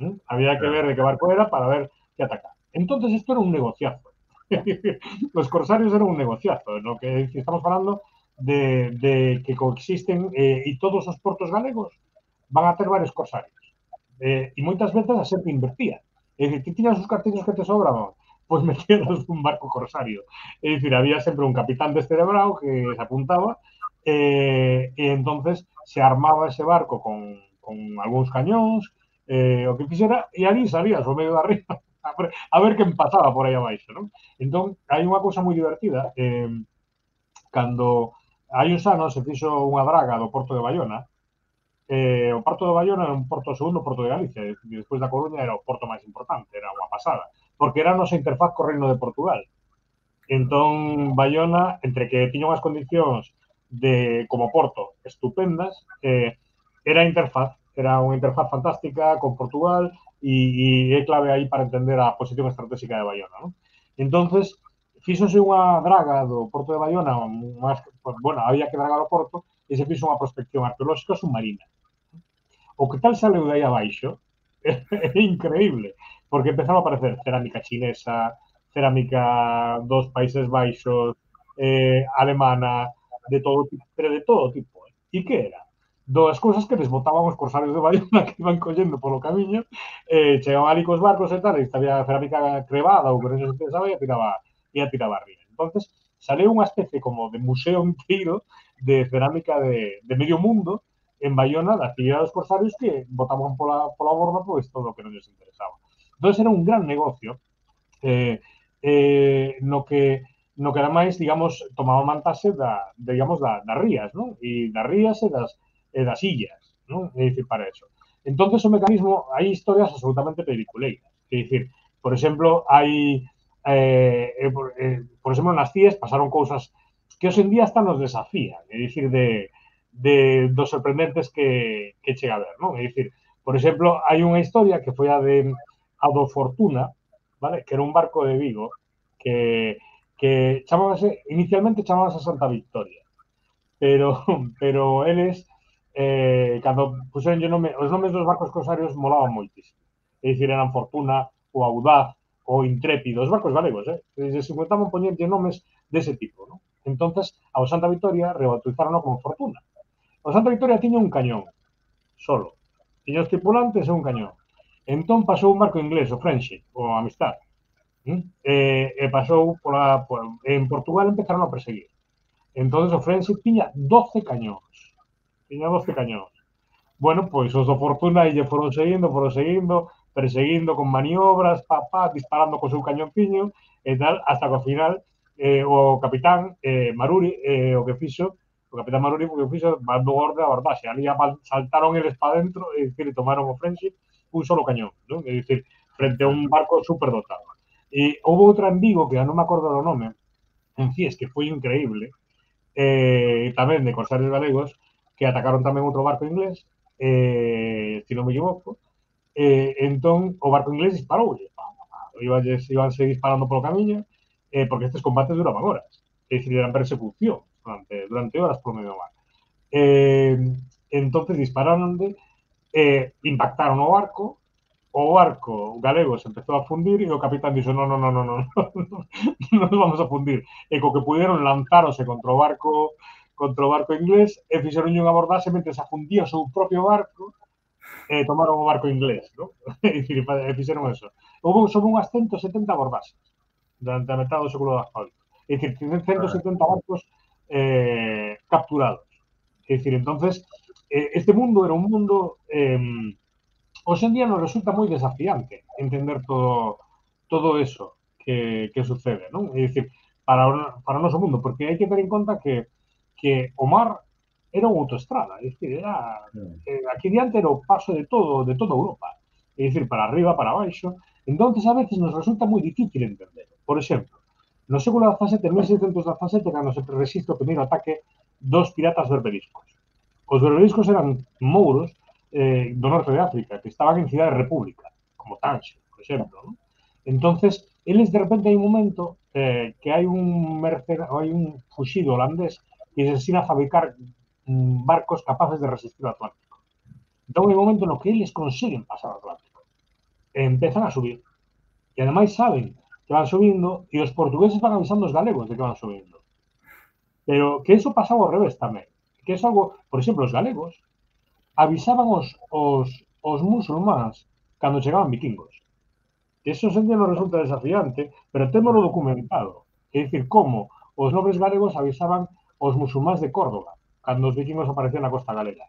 ¿Mm? Había que ver de que barco era para ver que atacar. Entonces, isto era un negociazo. Os corsarios eran un negociazo, no que estamos falando de, de que coexisten eh, e todos os portos galegos van a ter varios corsarios. Eh, e moitas veces a xente invertía. É dicir, ti tiñas os cartillos que te sobraban, pois metías un barco corsario. É dicir, había sempre un capitán descerebrado que se apuntaba eh, e entonces se armaba ese barco con, con algúns cañóns, eh, o que fixera, e ali salías ao medio da ría a ver, a ver quen pasaba por aí abaixo, non? Entón, hai unha cousa moi divertida. Eh, cando hai uns anos se fixo unha draga do Porto de Bayona, eh, o Porto de Bayona era un porto, o segundo porto de Galicia, e despois da Coruña era o porto máis importante, era unha pasada, porque era a nosa interfaz co Reino de Portugal. Entón, Bayona, entre que tiña unhas condicións de, como porto, estupendas, eh, era a interfaz, era unha interfaz fantástica con Portugal e, e é clave aí para entender a posición estratégica de Bayona, non? Entonces, fíxose unha draga do Porto de Bayona, más, pues, bueno, había que dragar o porto, e se fixo unha prospección arqueolóxica submarina. O que tal saleu de aí abaixo é, é increíble, porque empezaba a aparecer cerámica chinesa, cerámica dos Países Baixos, eh, alemana, de todo tipo, pero de todo tipo. Eh? E que era? Dos cousas que desbotaban os corsarios de Bayona que iban collendo polo camiño, eh, chegaban ali cos barcos e tal, e había cerámica crevada ou que non se pensaba e a tiraba, e a tiraba arriba. Entonces, saleu unha especie como de museo inteiro de cerámica de, de medio mundo en Bayona, da actividade dos corsarios que botaban pola, pola borda pois todo o que non les interesaba. Entón, era un gran negocio eh, eh, no que no que ademais, digamos, tomaba mantase da, de, digamos, da, das rías, non? E das rías e das, e das illas, non? É dicir, para eso. Entonces, o mecanismo, hai historias absolutamente peliculeiras. É dicir, por exemplo, hai eh, eh, por, eh, por exemplo, nas cíes pasaron cousas que hoxe en día hasta nos desafían, é dicir, de, de dos sorprendentes que, que chega a ver, non? É dicir, por exemplo, hai unha historia que foi a de a do Fortuna, vale? Que era un barco de Vigo que, que chamábase, inicialmente chamábase Santa Victoria, pero, pero eles, eh, cando puseron o nome, os nomes dos barcos corsarios molaban moitísimo. É dicir, eran Fortuna, o Audaz, o Intrépido, os barcos galegos, eh? Se se inventaban poñerlle nomes dese tipo, non? Entonces, ao Santa Victoria rebautizaron como Fortuna. O Santa Victoria tiña un cañón, solo. Tiña os tripulantes e un cañón. Entón pasou un barco inglés, o Friendship, o Amistad, ¿Mm? E, e pasou pola, por, en Portugal empezaron a perseguir. Entonces o Friendship tiña doce cañóns. Tiña doce cañóns. Bueno, pois os do Fortuna e lle foron seguindo, foron seguindo, perseguindo con maniobras, pa, pa, disparando co seu cañonciño e tal, hasta que ao final eh, o capitán eh, Maruri, eh, o que fixo, o capitán Maruri, o que fixo, mandou orde a abordaxe. Ali saltaron eles para dentro e, dicir, tomaron o Friendship un solo cañón, non? É dicir, frente a un barco superdotado. E houve outra en Vigo, que non me acordo do nome, en Cies, que foi increíble, eh, tamén de corsarios galegos, que atacaron tamén outro barco inglés, eh, se non me equivoco, eh, entón o barco inglés disparou, ibanse, ibanse disparando polo camiño, eh, porque estes combates duraban horas, é dicir, eran persecución durante, durante horas por medio do mar. Eh, entonces dispararon de, eh, impactaron o barco, o barco galego se empezou a fundir e o capitán dixo, no, no, no, no, no, no, non nos vamos a fundir. E co que pudieron lanzarose contra o barco contra o barco inglés e fixeron unha abordaxe mentre se afundía o seu propio barco e tomaron o barco inglés, ¿no? É dicir, e fixeron eso. Houve sobre unhas ciento setenta abordaxes durante a metade do século dezaoito. É dicir, ciento setenta barcos eh, capturados. É dicir, entonces, eh, este mundo era un mundo... Eh, hoxe en día nos resulta moi desafiante entender todo, todo eso que, que sucede, non? É dicir, para o, para o noso mundo, porque hai que ter en conta que, que o mar era unha autoestrada, é dicir, era, eh, aquí diante era o paso de todo, de toda Europa, é dicir, para arriba, para baixo, entonces a veces nos resulta moi difícil entender. Por exemplo, no século dezasete, en mil seiscentos dezasete, cando se resiste o primeiro ataque dos piratas berberiscos. Os berberiscos eran mouros eh, do norte de África, que estaban en Cidade República, como Tanxe, por exemplo, ¿no? Entonces, eles de repente hai un momento eh, que hai un mercenario, hai un fuxido holandés que se ensina a fabricar mm, barcos capaces de resistir o Atlántico. Entón, hai un momento no que eles consiguen pasar o Atlántico. E empezan a subir. E ademais saben que van subindo e os portugueses van avisando os galegos de que van subindo. Pero que eso pasaba ao revés tamén. Que é algo, por exemplo, os galegos avisaban os, os, os musulmáns cando chegaban vikingos. Eso sen que nos resulta desafiante, pero témolo documentado. É dicir, como os nobres galegos avisaban os musulmáns de Córdoba cando os vikingos aparecían na costa galega.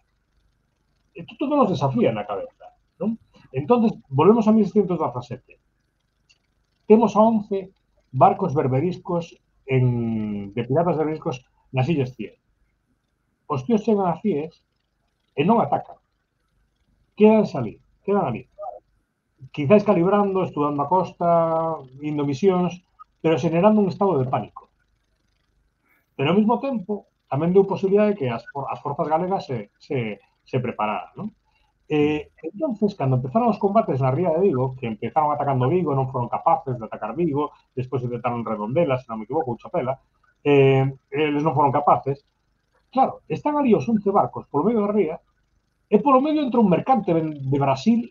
Isto todo nos desafía na cabeza, non? Entonces, volvemos a mil seiscentos dezasete. Temos a once barcos berberiscos en, de piratas berberiscos nas Illas Cíes. Os tíos chegan a Cíes e non atacan. Quedan ali, quedan ali. Quizáis calibrando, estudando a costa, indo misións, pero generando un estado de pánico. Pero ao mesmo tempo, tamén deu posibilidade de que as, as forzas galegas se, se, se prepararan, non? Eh, entonces, cando empezaron os combates na ría de Vigo, que empezaron atacando Vigo, non foron capaces de atacar Vigo, despois intentaron Redondela, se non me equivoco, ou Chapela, eh, eles non foron capaces. Claro, están ali os once barcos polo medio da ría, e polo medio entra un mercante de Brasil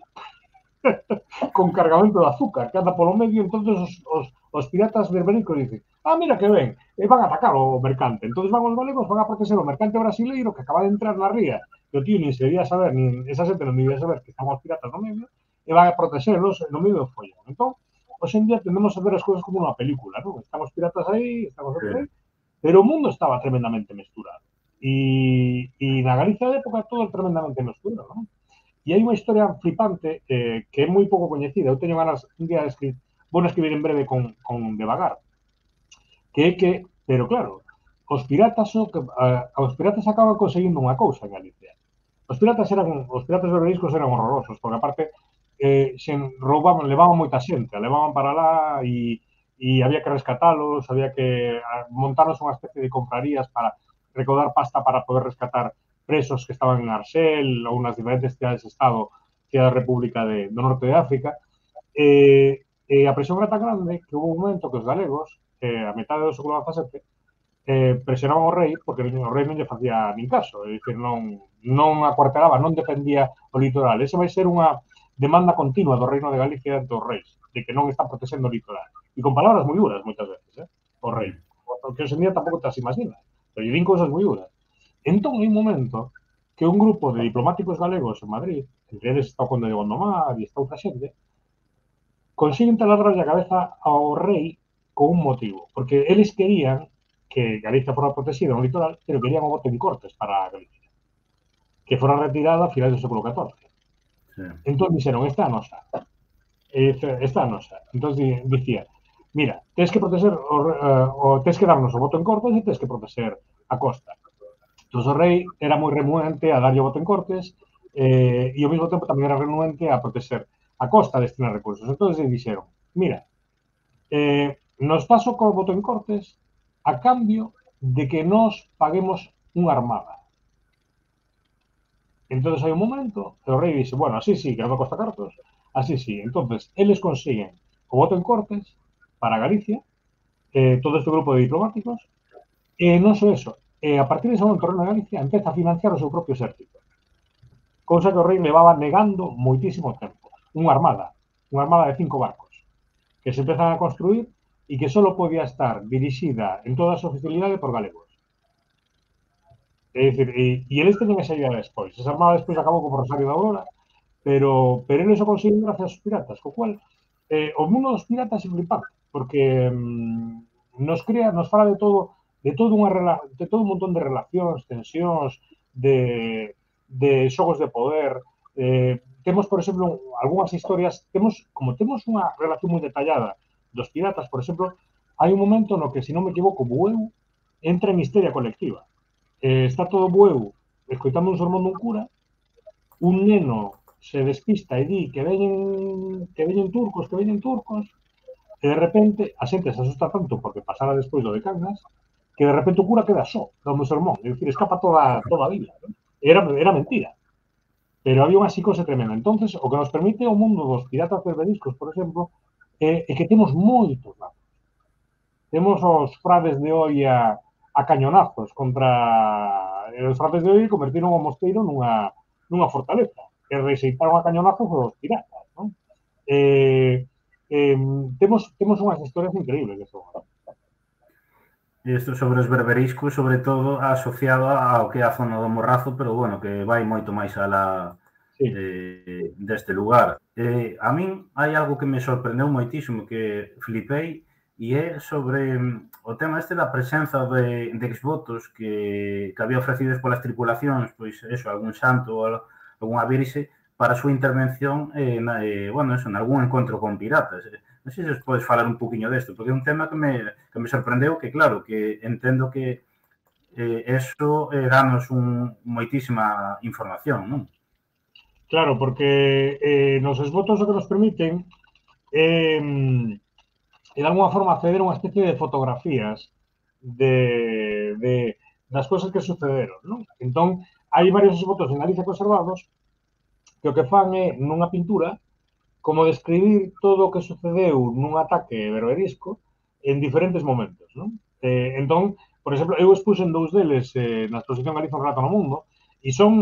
con cargamento de azúcar, que anda polo medio, entonces os, os, os piratas berbericos dicen, ah, mira que ven, e van a atacar o mercante. Entonces van os galegos, van a proteger o mercante brasileiro que acaba de entrar na ría, que o tío nin se debía saber, nin esa xente non debía saber que estaban os piratas no medio, e van a protegerlos no medio do follón. Entón, hoxe en día tendemos a ver as cousas como unha película, non? Están os piratas aí, están os outros aí, pero o mundo estaba tremendamente mesturado. E, e na Galicia de época todo tremendamente mesturado, non? E hai unha historia flipante eh, que é moi pouco coñecida. Eu teño ganas un día de escribir, vou escribir en breve con, con Devagar, que é que, pero claro, os piratas so, uh, os piratas acaban conseguindo unha cousa en Galicia. Os piratas eran, os piratas berberiscos eran horrorosos, porque aparte eh, se roubaban, levaban moita xente, a levaban para lá e, e había que rescatalos, había que montarnos unha especie de confrarías para recaudar pasta para poder rescatar presos que estaban en Arxel ou nas diferentes cidades de Estado, cidade da República de, do Norte de África. E, e a presión era tan grande que houve un momento que os galegos, eh, a metade do século dezasete, eh, presionaban ao rei porque o rei non lle facía nin caso, é dicir, non, non acuartelaba, non defendía o litoral. Ese vai ser unha demanda continua do Reino de Galicia ante os reis, de que non están protexendo o litoral. E con palabras moi duras, moitas veces, eh, o rei. Porque hoxe en día tampouco te as imaginas, pero lle din cousas moi duras. Entón, hai un momento que un grupo de diplomáticos galegos en Madrid, entre eles está o conde de Gondomar e está outra xente, consiguen taladrarlle a cabeza ao rei con un motivo, porque eles querían que Galicia fora protegida no litoral, pero querían o bote de Cortes para Galicia, que fora retirada a finais do século catorce. Sí. Entón, dixeron, esta é a nosa. Esta é a nosa. Entón, dicía, mira, tens que proteger, o, o, tens que darnos o voto en Cortes e tens que proteger a costa. Entón, o rei era moi renuente a darlle o voto en Cortes eh, e ao mesmo tempo tamén era renuente a proteger a costa de destinar recursos. Entonces dixeron, mira, eh, nos paso co voto en Cortes a cambio de que nos paguemos unha armada. Entonces hai un momento, e o rei dixe, bueno, así sí, que non me costa cartos, así sí. Entonces, eles consiguen o voto en Cortes para Galicia, eh, todo este grupo de diplomáticos, e non só eso, e a partir de ese momento o Reino de Galicia empeza a financiar o seu propio exército. Cousa que o rei levaba negando moitísimo tempo. Unha armada, unha armada de cinco barcos, que se empezan a construir e que só podía estar dirixida en toda a súa oficialidade por galegos. É dicir, e, e eles teñen esa idea despois. Esa armada despois acabou como Rosario da Aurora, pero, pero eles o consiguen gracias aos piratas, co cual eh, o mundo dos piratas é flipante, porque mm, nos crea, nos fala de todo, de todo unha de todo un montón de relacións, tensións, de, de xogos de poder. Eh, temos, por exemplo, algunhas historias, temos, como temos unha relación moi detallada dos piratas, por exemplo, hai un momento no que, se non me equivoco, Bueu entra en histeria colectiva. Eh, está todo Bueu escoitando un sermón dun cura, un neno se despista e di que veñen que veñen turcos, que veñen turcos, e de repente a xente se asusta tanto porque pasara despois do de Cangas, que de repente o cura queda só dando o sermón, é dicir, escapa toda, toda a vila, ¿no? Era, era mentira, pero había unha psicose tremenda. Entonces, o que nos permite o mundo dos piratas berberiscos, por exemplo, é, é que temos moitos lados. Temos os frades de Oia a cañonazos contra os frades de Oia convertiron o mosteiro nunha, nunha fortaleza, que rexeitaron a cañonazos os piratas, non? Eh, eh, temos, temos unhas historias increíbles de eso.
Isto sobre os berberiscos, sobre todo asociado ao que é a zona do Morrazo, pero bueno, que vai moito máis alá sí. eh, deste lugar. Eh, a min hai algo que me sorprendeu moitísimo, que flipei, e é sobre o tema este da presenza de, de exvotos que, que había ofrecidos polas tripulacións, pois eso, algún santo ou algunha virxe, para a súa intervención eh, na, eh, bueno, eso, en algún encontro con piratas. Non sei se os podes falar un poquinho desto, porque é un tema que me, que me sorprendeu, que claro, que entendo que eh, eso eh, danos un, moitísima información, non?
Claro, porque eh, nos exvotos o que nos permiten eh, e de alguma forma acceder a unha especie de fotografías de, de das cousas que sucederon, non? Entón, hai varios exvotos en Galicia conservados que o que fan é, nunha pintura, como describir todo o que sucedeu nun ataque berberisco en diferentes momentos, non? Eh, entón, por exemplo, eu expuxen dous deles eh, na exposición Galicia un relato no mundo e son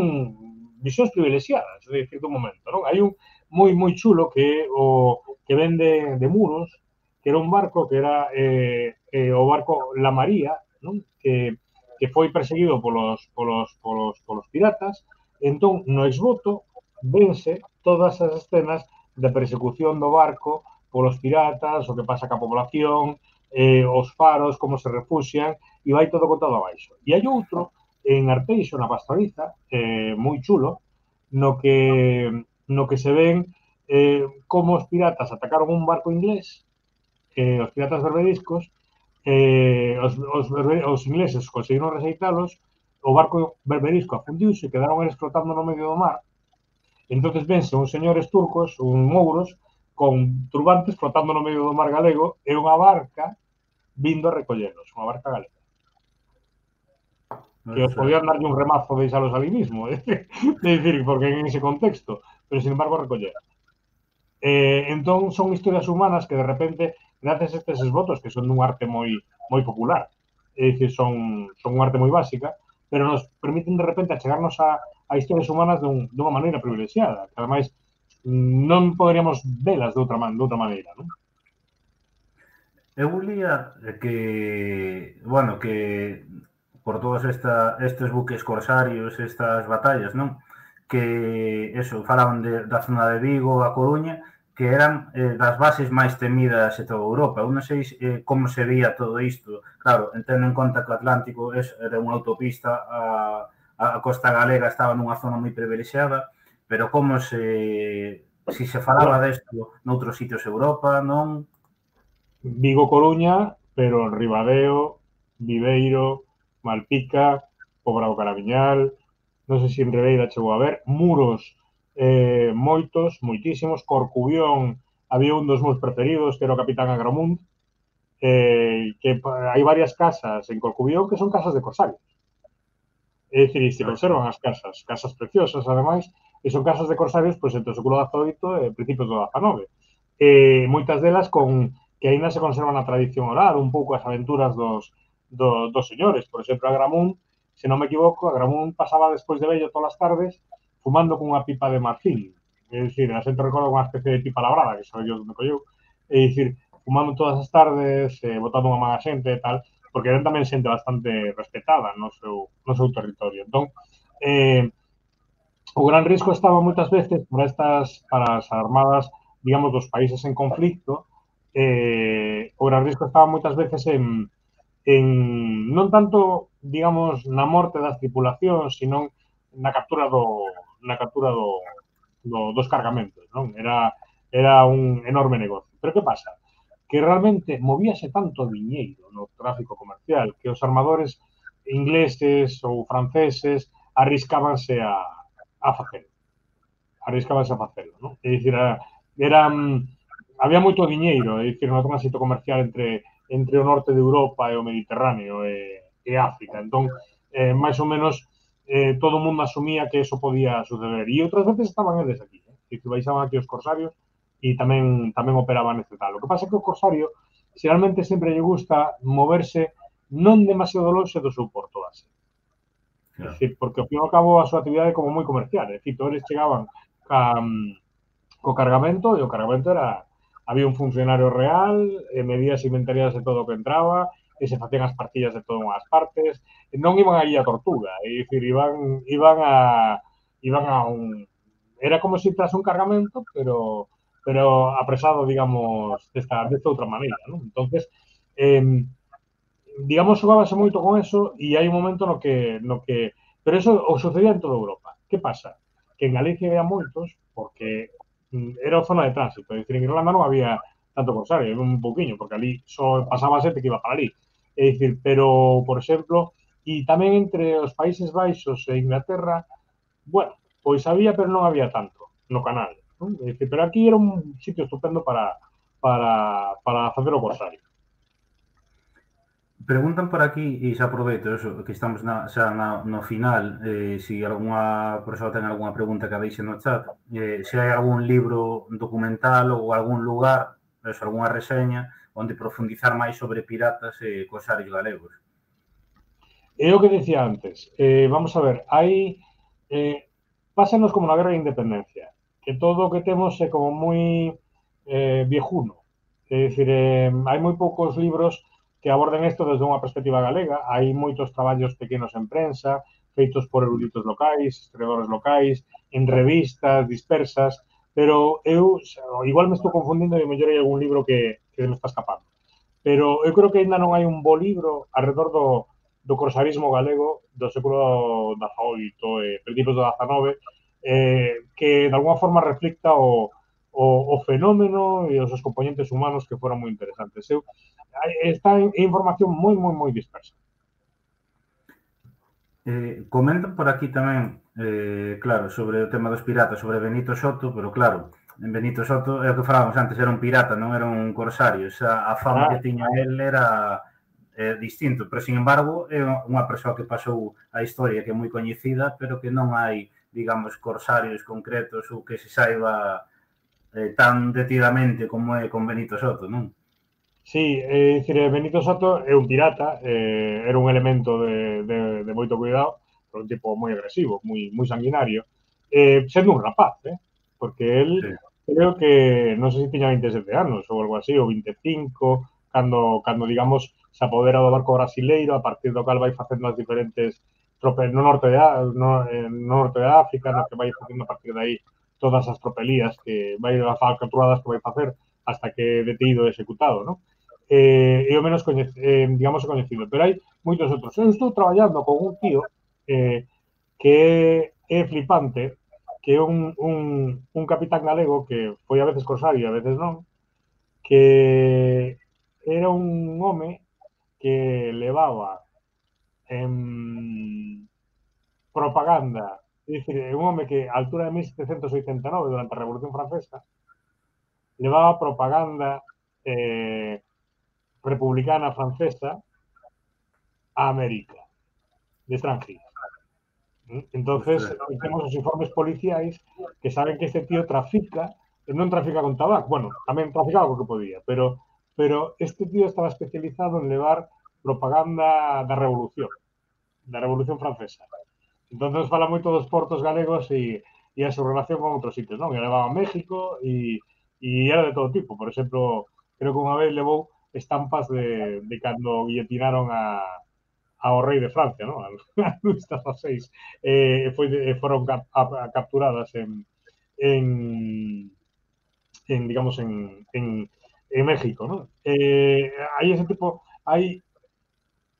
visións privilexiadas, de cierto momento, non? Hai un moi, moi chulo que o que vende de Muros, que era un barco que era eh, eh, o barco La María, non? Que, que foi perseguido polos, polos, polos, polos piratas. Entón, no exvoto, vense todas as escenas de persecución do barco polos piratas, o que pasa ca población, eh, os faros, como se refuxian, e vai todo contado abaixo. E hai outro, en Arteixo, na Pastoriza, eh, moi chulo, no que, no que se ven eh, como os piratas atacaron un barco inglés, eh, os piratas berberiscos, eh, os, os, os ingleses conseguiron rexeitalos, o barco berberisco afundiuse, quedaron eles flotando no medio do mar. Entonces vense uns señores turcos, uns mouros, con turbantes flotando no medio do mar galego e unha barca vindo a recollelos, unha barca galega. Que os podían darlle un remazo de deixalos ali mismo, é dicir, porque en ese contexto, pero sin embargo recolleron. Eh, entón son historias humanas que de repente, gracias a estes esvotos, que son dun arte moi moi popular, é dicir, son, son unha arte moi básica, pero nos permiten de repente achegarnos a, a historias humanas dun, dunha maneira privilexiada, que ademais non poderíamos velas de outra, man, de outra maneira, non?
Eu lía que, bueno, que por todos esta, estes buques corsarios, estas batallas, non? Que, eso, falaban de, da zona de Vigo, a Coruña, que eran eh, das bases máis temidas de toda Europa. Eu non sei eh, como se veía todo isto. Claro, entendo en conta que o Atlántico es, era unha autopista, a, a costa galega estaba nunha zona moi privilexiada, pero como se, si se falaba desto noutros sitios de Europa, non?
Vigo, Coruña, pero Ribadeo, Viveiro, Malpica, Pobrao Carabiñal, non sei se en Ribeira chegou a ver, Muros, eh, moitos, moitísimos. Corcubión, había un dos meus preferidos, que era o Capitán Agramunt, eh, que hai varias casas en Corcubión que son casas de corsarios. É dicir, se conservan as casas, casas preciosas, ademais, e son casas de corsarios pois, entre o século dezaoito e principios do dezanove. E moitas delas con que aínda se conservan a tradición oral, un pouco as aventuras dos, do, dos señores. Por exemplo, Agramún, se non me equivoco, Agramún pasaba despois de vello todas as tardes fumando cunha pipa de marfil. É dicir, a xente recorda unha especie de pipa labrada, que sabe yo onde colleu. É dicir, fumando todas as tardes, eh, botando unha mala xente e tal, porque eran tamén xente bastante respetada no seu, no seu territorio. Entón, eh, o gran risco estaba moitas veces para estas, para as armadas, digamos, dos países en conflicto, eh, o gran risco estaba moitas veces en, en non tanto, digamos, na morte das tripulacións, sino na captura do na captura do, do dos cargamentos, non? Era era un enorme negocio. Pero que pasa? Que realmente movíase tanto diñeiro no tráfico comercial que os armadores ingleses ou franceses arriscábanse a, a facelo. Arriscábanse a facelo, non? É dicir, eran, había moito diñeiro, é dicir, no tránsito comercial entre, entre o norte de Europa e o Mediterráneo e, e África. Entón, eh, máis ou menos, eh, todo o mundo asumía que eso podía suceder. E outras veces estaban eles aquí, eh? Que baixaban aquí os corsarios e tamén tamén operaban neste tal. O que pasa é que o corsario xeralmente sempre lle gusta moverse non demasiado longe do seu porto base. Claro. É dicir, porque ao fin e ao cabo a súa actividade é como moi comercial. É dicir, todos eles chegaban ca, co cargamento e o cargamento era había un funcionario real, e medías e inventarias de todo o que entraba, e se facían as partillas de todas as partes, e non iban aí a tortuga, é dicir, iban, iban a iban a un era como se tras un cargamento, pero pero apresado, digamos, desta, desta outra maneira, non? Entonces, eh, digamos, xogábase moito con eso e hai un momento no que, no que pero eso o sucedía en toda Europa. Que pasa? Que en Galicia había moitos, porque era a zona de tránsito, é dicir, en Irlanda non había tanto corsario, había un pouquiño, porque ali só pasaba xente que iba para ali. É dicir, pero, por exemplo, e tamén entre os Países Baixos e Inglaterra, bueno, pois había, pero non había tanto no canal. Non? É dicir, pero aquí era un sitio estupendo para, para, para facer o corsario.
Preguntan por aquí, e xa aproveito eso, que estamos na, xa na, no final, eh, se si algunha persoa ten algunha pregunta que a deixe no chat, eh, se hai algún libro documental ou algún lugar, eso, algunha reseña, onde profundizar máis sobre piratas e corsarios galegos.
É o que decía antes, eh, vamos a ver, hai, eh, pásanos como na Guerra de Independencia, que todo o que temos é como moi eh, viejuno, é dicir, eh, hai moi poucos libros que aborden isto desde unha perspectiva galega, hai moitos traballos pequenos en prensa, feitos por eruditos locais, historiadores locais, en revistas dispersas, pero eu, igual me estou confundindo e mellor hai algún libro que, que me está escapando. Pero eu creo que ainda non hai un bo libro alrededor do, do corsarismo galego do século dezaoito e principios do dezanove eh, que de alguna forma reflicta o, o, o fenómeno e os seus componentes humanos que foron moi interesantes. Eu, está en información moi, moi, moi dispersa.
Eh, comentan por aquí tamén, eh, claro, sobre o tema dos piratas, sobre Benito Soto, pero claro, en Benito Soto, é o que falábamos antes, era un pirata, non era un corsario, esa, a fama ah. que tiña el era eh, distinto, pero, sin embargo, é unha persoa que pasou a historia que é moi coñecida, pero que non hai, digamos, corsarios concretos ou que se saiba eh, tan detidamente como é con Benito Soto, non?
Sí, é dicir, Benito Soto é un pirata, eh, era un elemento de, de, de moito cuidado, un tipo moi agresivo, moi, moi sanguinario, eh, sendo un rapaz, eh? Porque él, sí. Creo que, non sei se tiña vinte e sete anos ou algo así, ou vinte e cinco, cando, cando digamos, se apodera do barco brasileiro, a partir do cal vai facendo as diferentes tropes no norte de, no, no norte de África, no que vai facendo a partir de aí todas as tropelías que vai a capturadas que vai facer hasta que é detido e executado, non? Eh, é o menos coñecido, eh, digamos, coñecido, pero hai moitos outros. Eu estou traballando con un tío eh, que é, é flipante, que é un, un, un capitán galego que foi a veces corsario e a veces non, que era un home que levaba en propaganda É dicir, é un home que a altura de mil setecentos oitenta e nove, durante a Revolución Francesa, levaba propaganda eh, republicana francesa a América, de extranjería. Entonces,
Ostras.
temos os informes policiais que saben que este tío trafica, non trafica con tabaco, bueno, tamén traficaba co que podía, pero, pero este tío estaba especializado en levar propaganda da revolución, da revolución francesa. Entonces fala moito dos portos galegos e, e a súa relación con outros sitios, non? E levaba a México e, e era de todo tipo. Por exemplo, creo que unha vez levou estampas de, de cando guillotinaron a, ao rei de Francia, non? A Luis dieciséis. Eh, foi de, foron cap, a, a, capturadas en, en, en digamos, en, en, en México, non? Eh, hai ese tipo, hai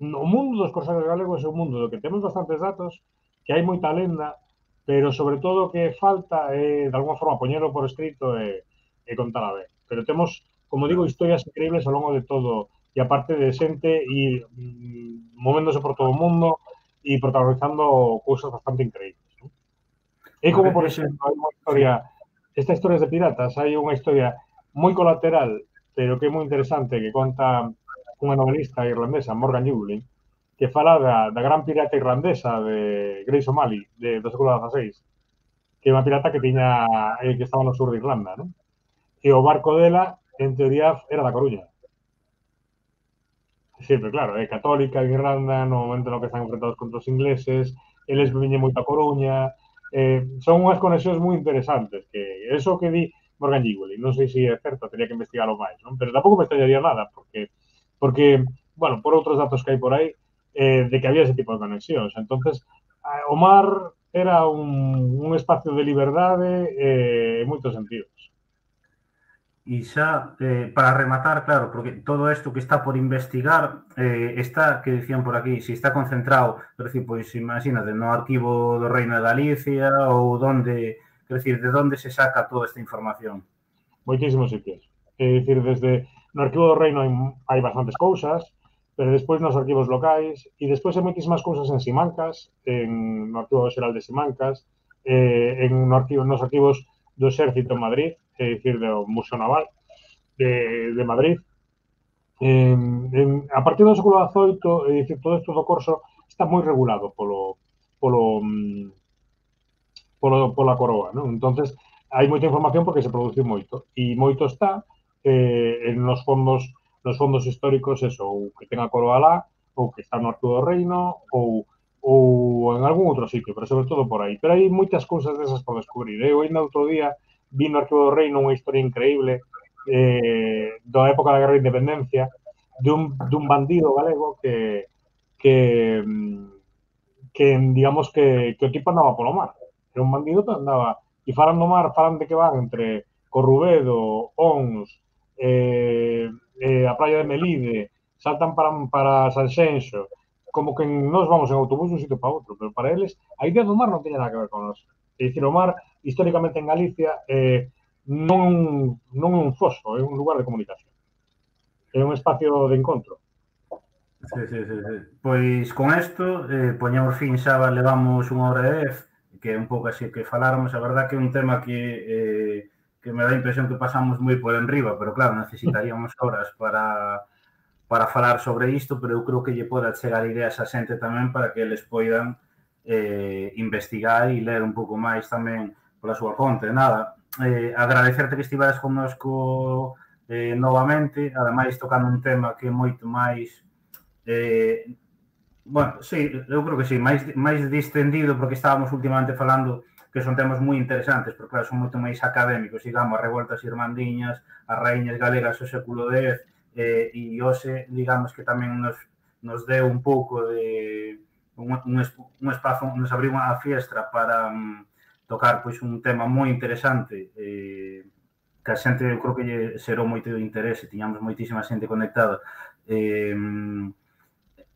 o mundo dos corsarios galegos é un mundo do que temos bastantes datos, que hai moita lenda, pero sobre todo o que falta é, de alguma forma, poñelo por escrito e, e contala ben. Pero temos, como digo, historias increíbles ao longo de todo, e aparte de xente e mm, movéndose por todo o mundo e protagonizando cousas bastante increíbles. ¿No? É
Porque
como, por
ese,
exemplo, hai unha
sí.
historia, estas historias de piratas, hai unha historia moi colateral, pero que é moi interesante, que conta unha novelista irlandesa, Morgan Llewellyn, que fala da, da gran pirata irlandesa de Grace O'Malley, de, do século dieciséis, que é unha pirata que tiña eh, que estaba no sur de Irlanda, ¿no? E o barco dela, en teoría, era da Coruña. Sempre, claro, é católica en Irlanda, no momento no que están enfrentados contra os ingleses, eles viñen moito a Coruña, eh, son unhas conexións moi interesantes, que eso que di Morgan Llewellyn, non sei se é certo, teria que investigalo máis, non? Pero tampouco me extrañaría nada, porque, porque, bueno, por outros datos que hai por aí, eh, de que había ese tipo de conexións. Entonces, o mar era un, un espacio de liberdade eh, en moitos sentidos.
E xa, eh, para rematar, claro, porque todo isto que está por investigar eh, está, que dicían por aquí, se está concentrado, quer decir, pois imagínate, no arquivo do Reino de Galicia ou donde, quer decir, de onde se saca toda esta información?
Moitísimos sitios. É dicir, desde no arquivo do Reino hai, hai bastantes cousas, pero despois nos arquivos locais, e despois hai moitísimas cousas en Simancas, en, no arquivo xeral de Simancas, eh, en no arquivo, nos arquivos do Exército en Madrid, é dicir, do Museo Naval de, de Madrid. En, en, a partir do século dezoito, é dicir, todo isto do corso está moi regulado polo, polo, polo, pola coroa, non? Entonces, hai moita información porque se produce moito, e moito está eh, en nos fondos nos fondos históricos, eso, ou que ten a coroa lá, ou que está no arquivo do reino, ou, ou en algún outro sitio, pero sobre todo por aí. Pero hai moitas cousas desas por descubrir. Eu ainda outro día vi no arquivo do reino unha historia increíble eh, da época da Guerra de Independencia, de un, de un bandido galego que, que, que digamos que, que o tipo andaba polo mar. Era un bandido que andaba, e falan do mar, falan de que van entre Corrubedo, Ons, eh, eh, a praia de Melide, saltan para, para Sanxenxo, como que nos vamos en autobús de un sitio para outro, pero para eles a idea do mar non teña nada que ver con nós. É dicir, o mar, históricamente en Galicia, eh, non, non é un foso, é un lugar de comunicación. É un espacio de encontro.
Sí, sí, sí, sí. Pois con isto, eh, poñemos fin xa, levamos unha hora e dez, que é un pouco así que faláramos, a verdad que é un tema que, eh, que me dá a impresión que pasamos moi por enriba, pero claro, necesitaríamos horas para, para falar sobre isto, pero eu creo que lle poda chegar ideas a xente tamén para que eles poidan eh, investigar e ler un pouco máis tamén pola súa conta. Nada, eh, agradecerte que estiveras connosco eh, novamente, ademais tocando un tema que é moito máis Eh, bueno, sí, eu creo que sí, máis, máis distendido, porque estábamos últimamente falando que son temas moi interesantes, porque claro, son moito máis académicos, digamos, as revoltas irmandiñas, as raíñas galegas do século dez, eh, e hoxe, digamos, que tamén nos, nos deu un pouco de un, un, un espazo, nos abriu unha fiestra para um, tocar pois un tema moi interesante, eh, que a xente, eu creo que lle xerou moito interese, tiñamos moitísima xente conectada, eh,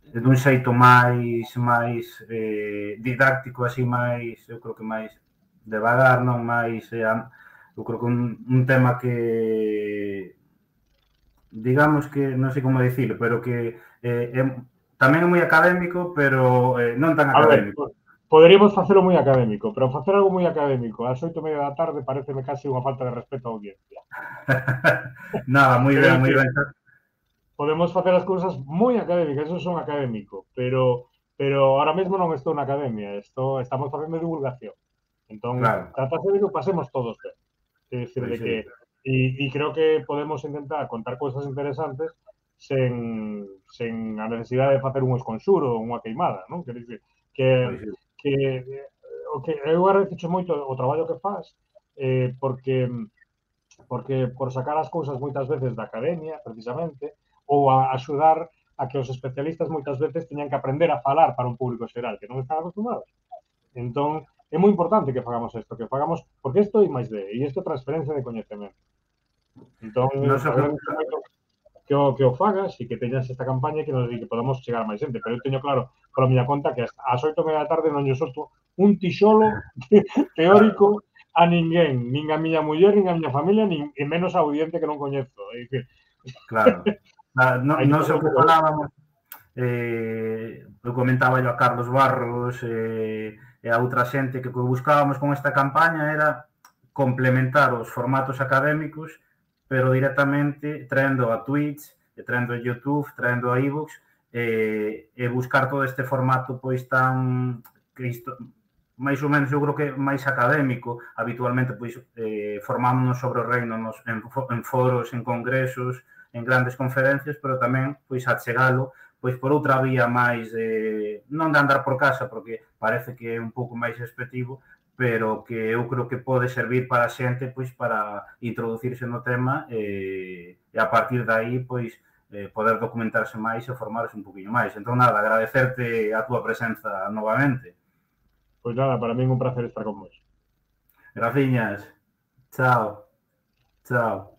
dun xeito máis máis eh, didáctico, así máis, eu creo que máis devagar, non máis, eh, eu creo que un, un tema que digamos que, non sei como dicirlo, pero que eh, é, tamén é moi académico, pero eh, non tan académico.
Poderíamos facelo moi académico, pero facer algo moi académico ás oito e media da tarde pareceme casi unha falta de respeto á audiencia.
Nada, moi
Quero
ben, moi
dicir,
ben.
podemos facer as cousas moi académicas, eso son académico, pero pero ahora mesmo non estou na academia, estou, estamos facendo divulgación. Entón,
Claro,
trátase de que o pasemos todos ben. É dicir,
pois
de
sí,
que e, e creo que podemos intentar contar cousas interesantes sen, sen a necesidade de facer un esconxuro ou unha queimada, non? Quer dicir, que,
pois sí.
que o que eu agradezo moito o traballo que faz, eh, porque porque por sacar as cousas moitas veces da academia, precisamente, ou a axudar a que os especialistas moitas veces teñan que aprender a falar para un público xeral que non están acostumados. Entón, é moi importante que fagamos isto, que fagamos, porque isto é máis de, e isto é transferencia de coñecemento. Entón,
Non sei que...
agradezo moito que o, que o fagas e que teñas esta campaña que nos di que podamos chegar a máis xente, pero eu teño claro pola miña conta que ás oito e media da tarde non lle solto un tixolo teórico a ninguén, nin a miña muller, nin a miña familia, nin e menos a audiencia que non coñezo. É dicir,
Claro. Ah, non,
hai que
non sei
facer
o
un
que
pouco de...
falábamos, eh, eu comentaba yo a Carlos Barros eh, e a outra xente que o que buscábamos con esta campaña era complementar os formatos académicos, pero directamente traendo a Twitch, e traendo a YouTube, traendo a iVoox, eh, e buscar todo este formato pois tan que isto, máis ou menos eu creo que máis académico. Habitualmente pois eh, formámonos sobre o reino nos, en, en foros, en congresos, en grandes conferencias, pero tamén pois achegalo pois por outra vía máis eh, non de andar por casa, porque parece que é un pouco máis expectivo, pero que eu creo que pode servir para a xente pois para introducirse no tema eh, e a partir de aí pois eh, poder documentarse máis e formarse un poquinho máis. Entón, nada, agradecerte a túa presenza novamente.
Pois nada, para min é un placer estar con vos.
Graciñas. Chao. Chao.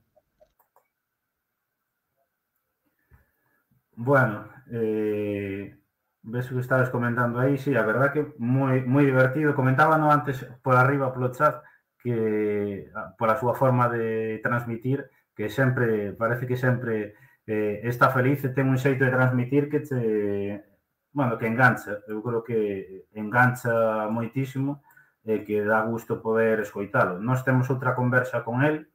Bueno, eh, ves que estabas comentando aí, sí, a verdad que moi, moi divertido. Comentábano antes por arriba polo chat que pola súa forma de transmitir, que sempre, parece que sempre eh, está feliz e ten un xeito de transmitir que te, bueno, que engancha. Eu creo que engancha moitísimo e que dá gusto poder escoitalo. Nós temos outra conversa con el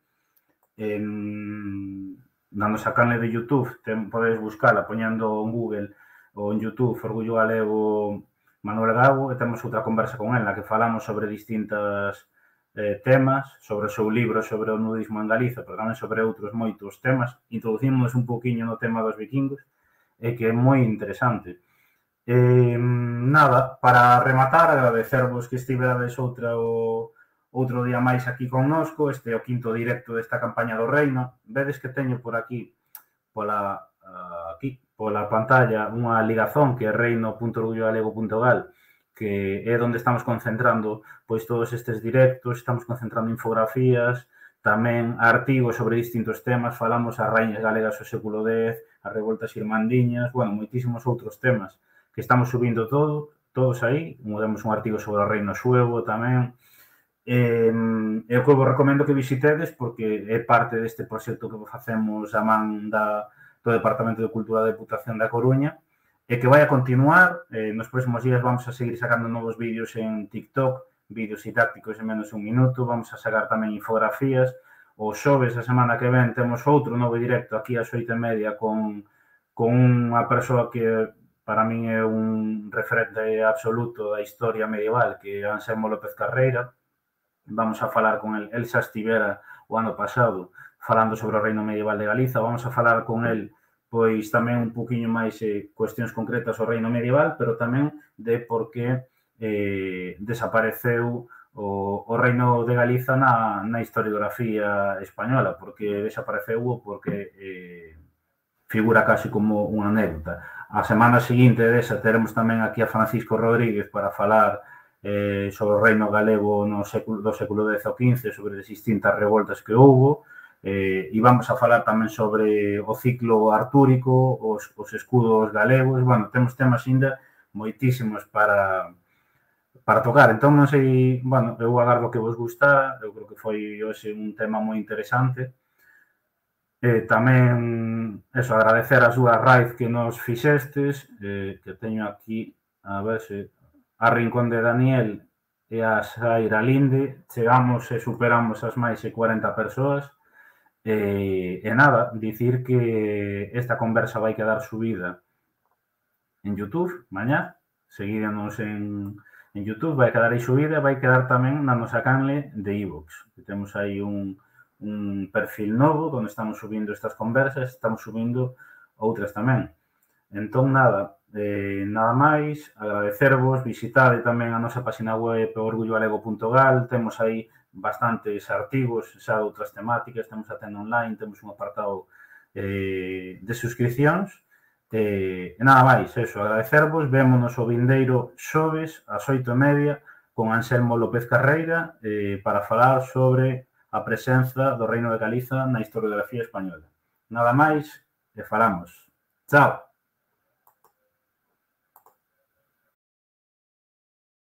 en, na nosa canle de YouTube, ten, podedes buscala poñendo en Google ou en YouTube Orgullo Galego Manuel Gago, e temos outra conversa con el na que falamos sobre distintas eh, temas, sobre o seu libro sobre o nudismo en Galiza, pero tamén sobre outros moitos temas. Introducimos un poquinho no tema dos vikingos, e que é moi interesante. Eh, nada, para rematar, agradecervos que estiverades outra o outro día máis aquí connosco, este é o quinto directo desta campaña do Reino. Vedes que teño por aquí, pola, uh, aquí, pola pantalla, unha ligazón que é reino punto orgullo galego punto gal, que é onde estamos concentrando pois todos estes directos, estamos concentrando infografías, tamén artigos sobre distintos temas, falamos as raíñas galegas do século dez, as revoltas irmandiñas, bueno, moitísimos outros temas que estamos subindo todo, todos aí. Temos un artigo sobre o reino suevo tamén. Eh, eu que vos recomendo que visitedes porque é parte deste proxecto que facemos a man da, do Departamento de Cultura da Deputación da Coruña e que vai a continuar. Eh, nos próximos días vamos a seguir sacando novos vídeos en TikTok, vídeos didácticos en menos de un minuto, vamos a sacar tamén infografías. O xoves a semana que ven temos outro novo directo aquí ás oito e media con, con unha persoa que para min é un referente absoluto da historia medieval, que é Anselmo López Carreira. Vamos a falar con el, el xa estivera o ano pasado falando sobre o reino medieval de Galiza, vamos a falar con el pois tamén un poquinho máis eh, cuestións concretas ao reino medieval, pero tamén de por que eh, desapareceu o, o reino de Galiza na, na historiografía española, porque desapareceu o porque eh, figura casi como unha anécdota. A semana seguinte desa teremos tamén aquí a Francisco Rodríguez para falar Eh, sobre o reino galego no século, do século dez ao quince, sobre as distintas revoltas que houbo, eh, e vamos a falar tamén sobre o ciclo artúrico, os, os escudos galegos. Bueno, temos temas ainda moitísimos para, para tocar. Entón, non sei, bueno, eu agardo que vos gusta, eu creo que foi hoxe un tema moi interesante. Eh, tamén, eso, agradecer a súa raíz que nos fixestes, eh, que teño aquí, a ver se... a Rincón de Daniel e a Saira Linde, chegamos e superamos as máis de cuarenta persoas. E, e nada, dicir que esta conversa vai quedar subida en YouTube mañá, seguídanos en, en YouTube, vai quedar aí subida, vai quedar tamén na nosa canle de iVoox, que temos aí un, un perfil novo onde estamos subindo estas conversas, estamos subindo outras tamén. Entón, nada, eh, nada máis, agradecervos, visitade tamén a nosa página web orgullo galego punto gal, temos aí bastantes artigos xa de outras temáticas, temos a tenda online, temos un apartado eh, de suscripcións, e, e nada máis, eso, agradecervos, vémonos o vindeiro xoves ás oito e media con Anselmo López Carreira eh, para falar sobre a presenza do Reino de Galiza na historiografía española. Nada máis, e falamos. Chao!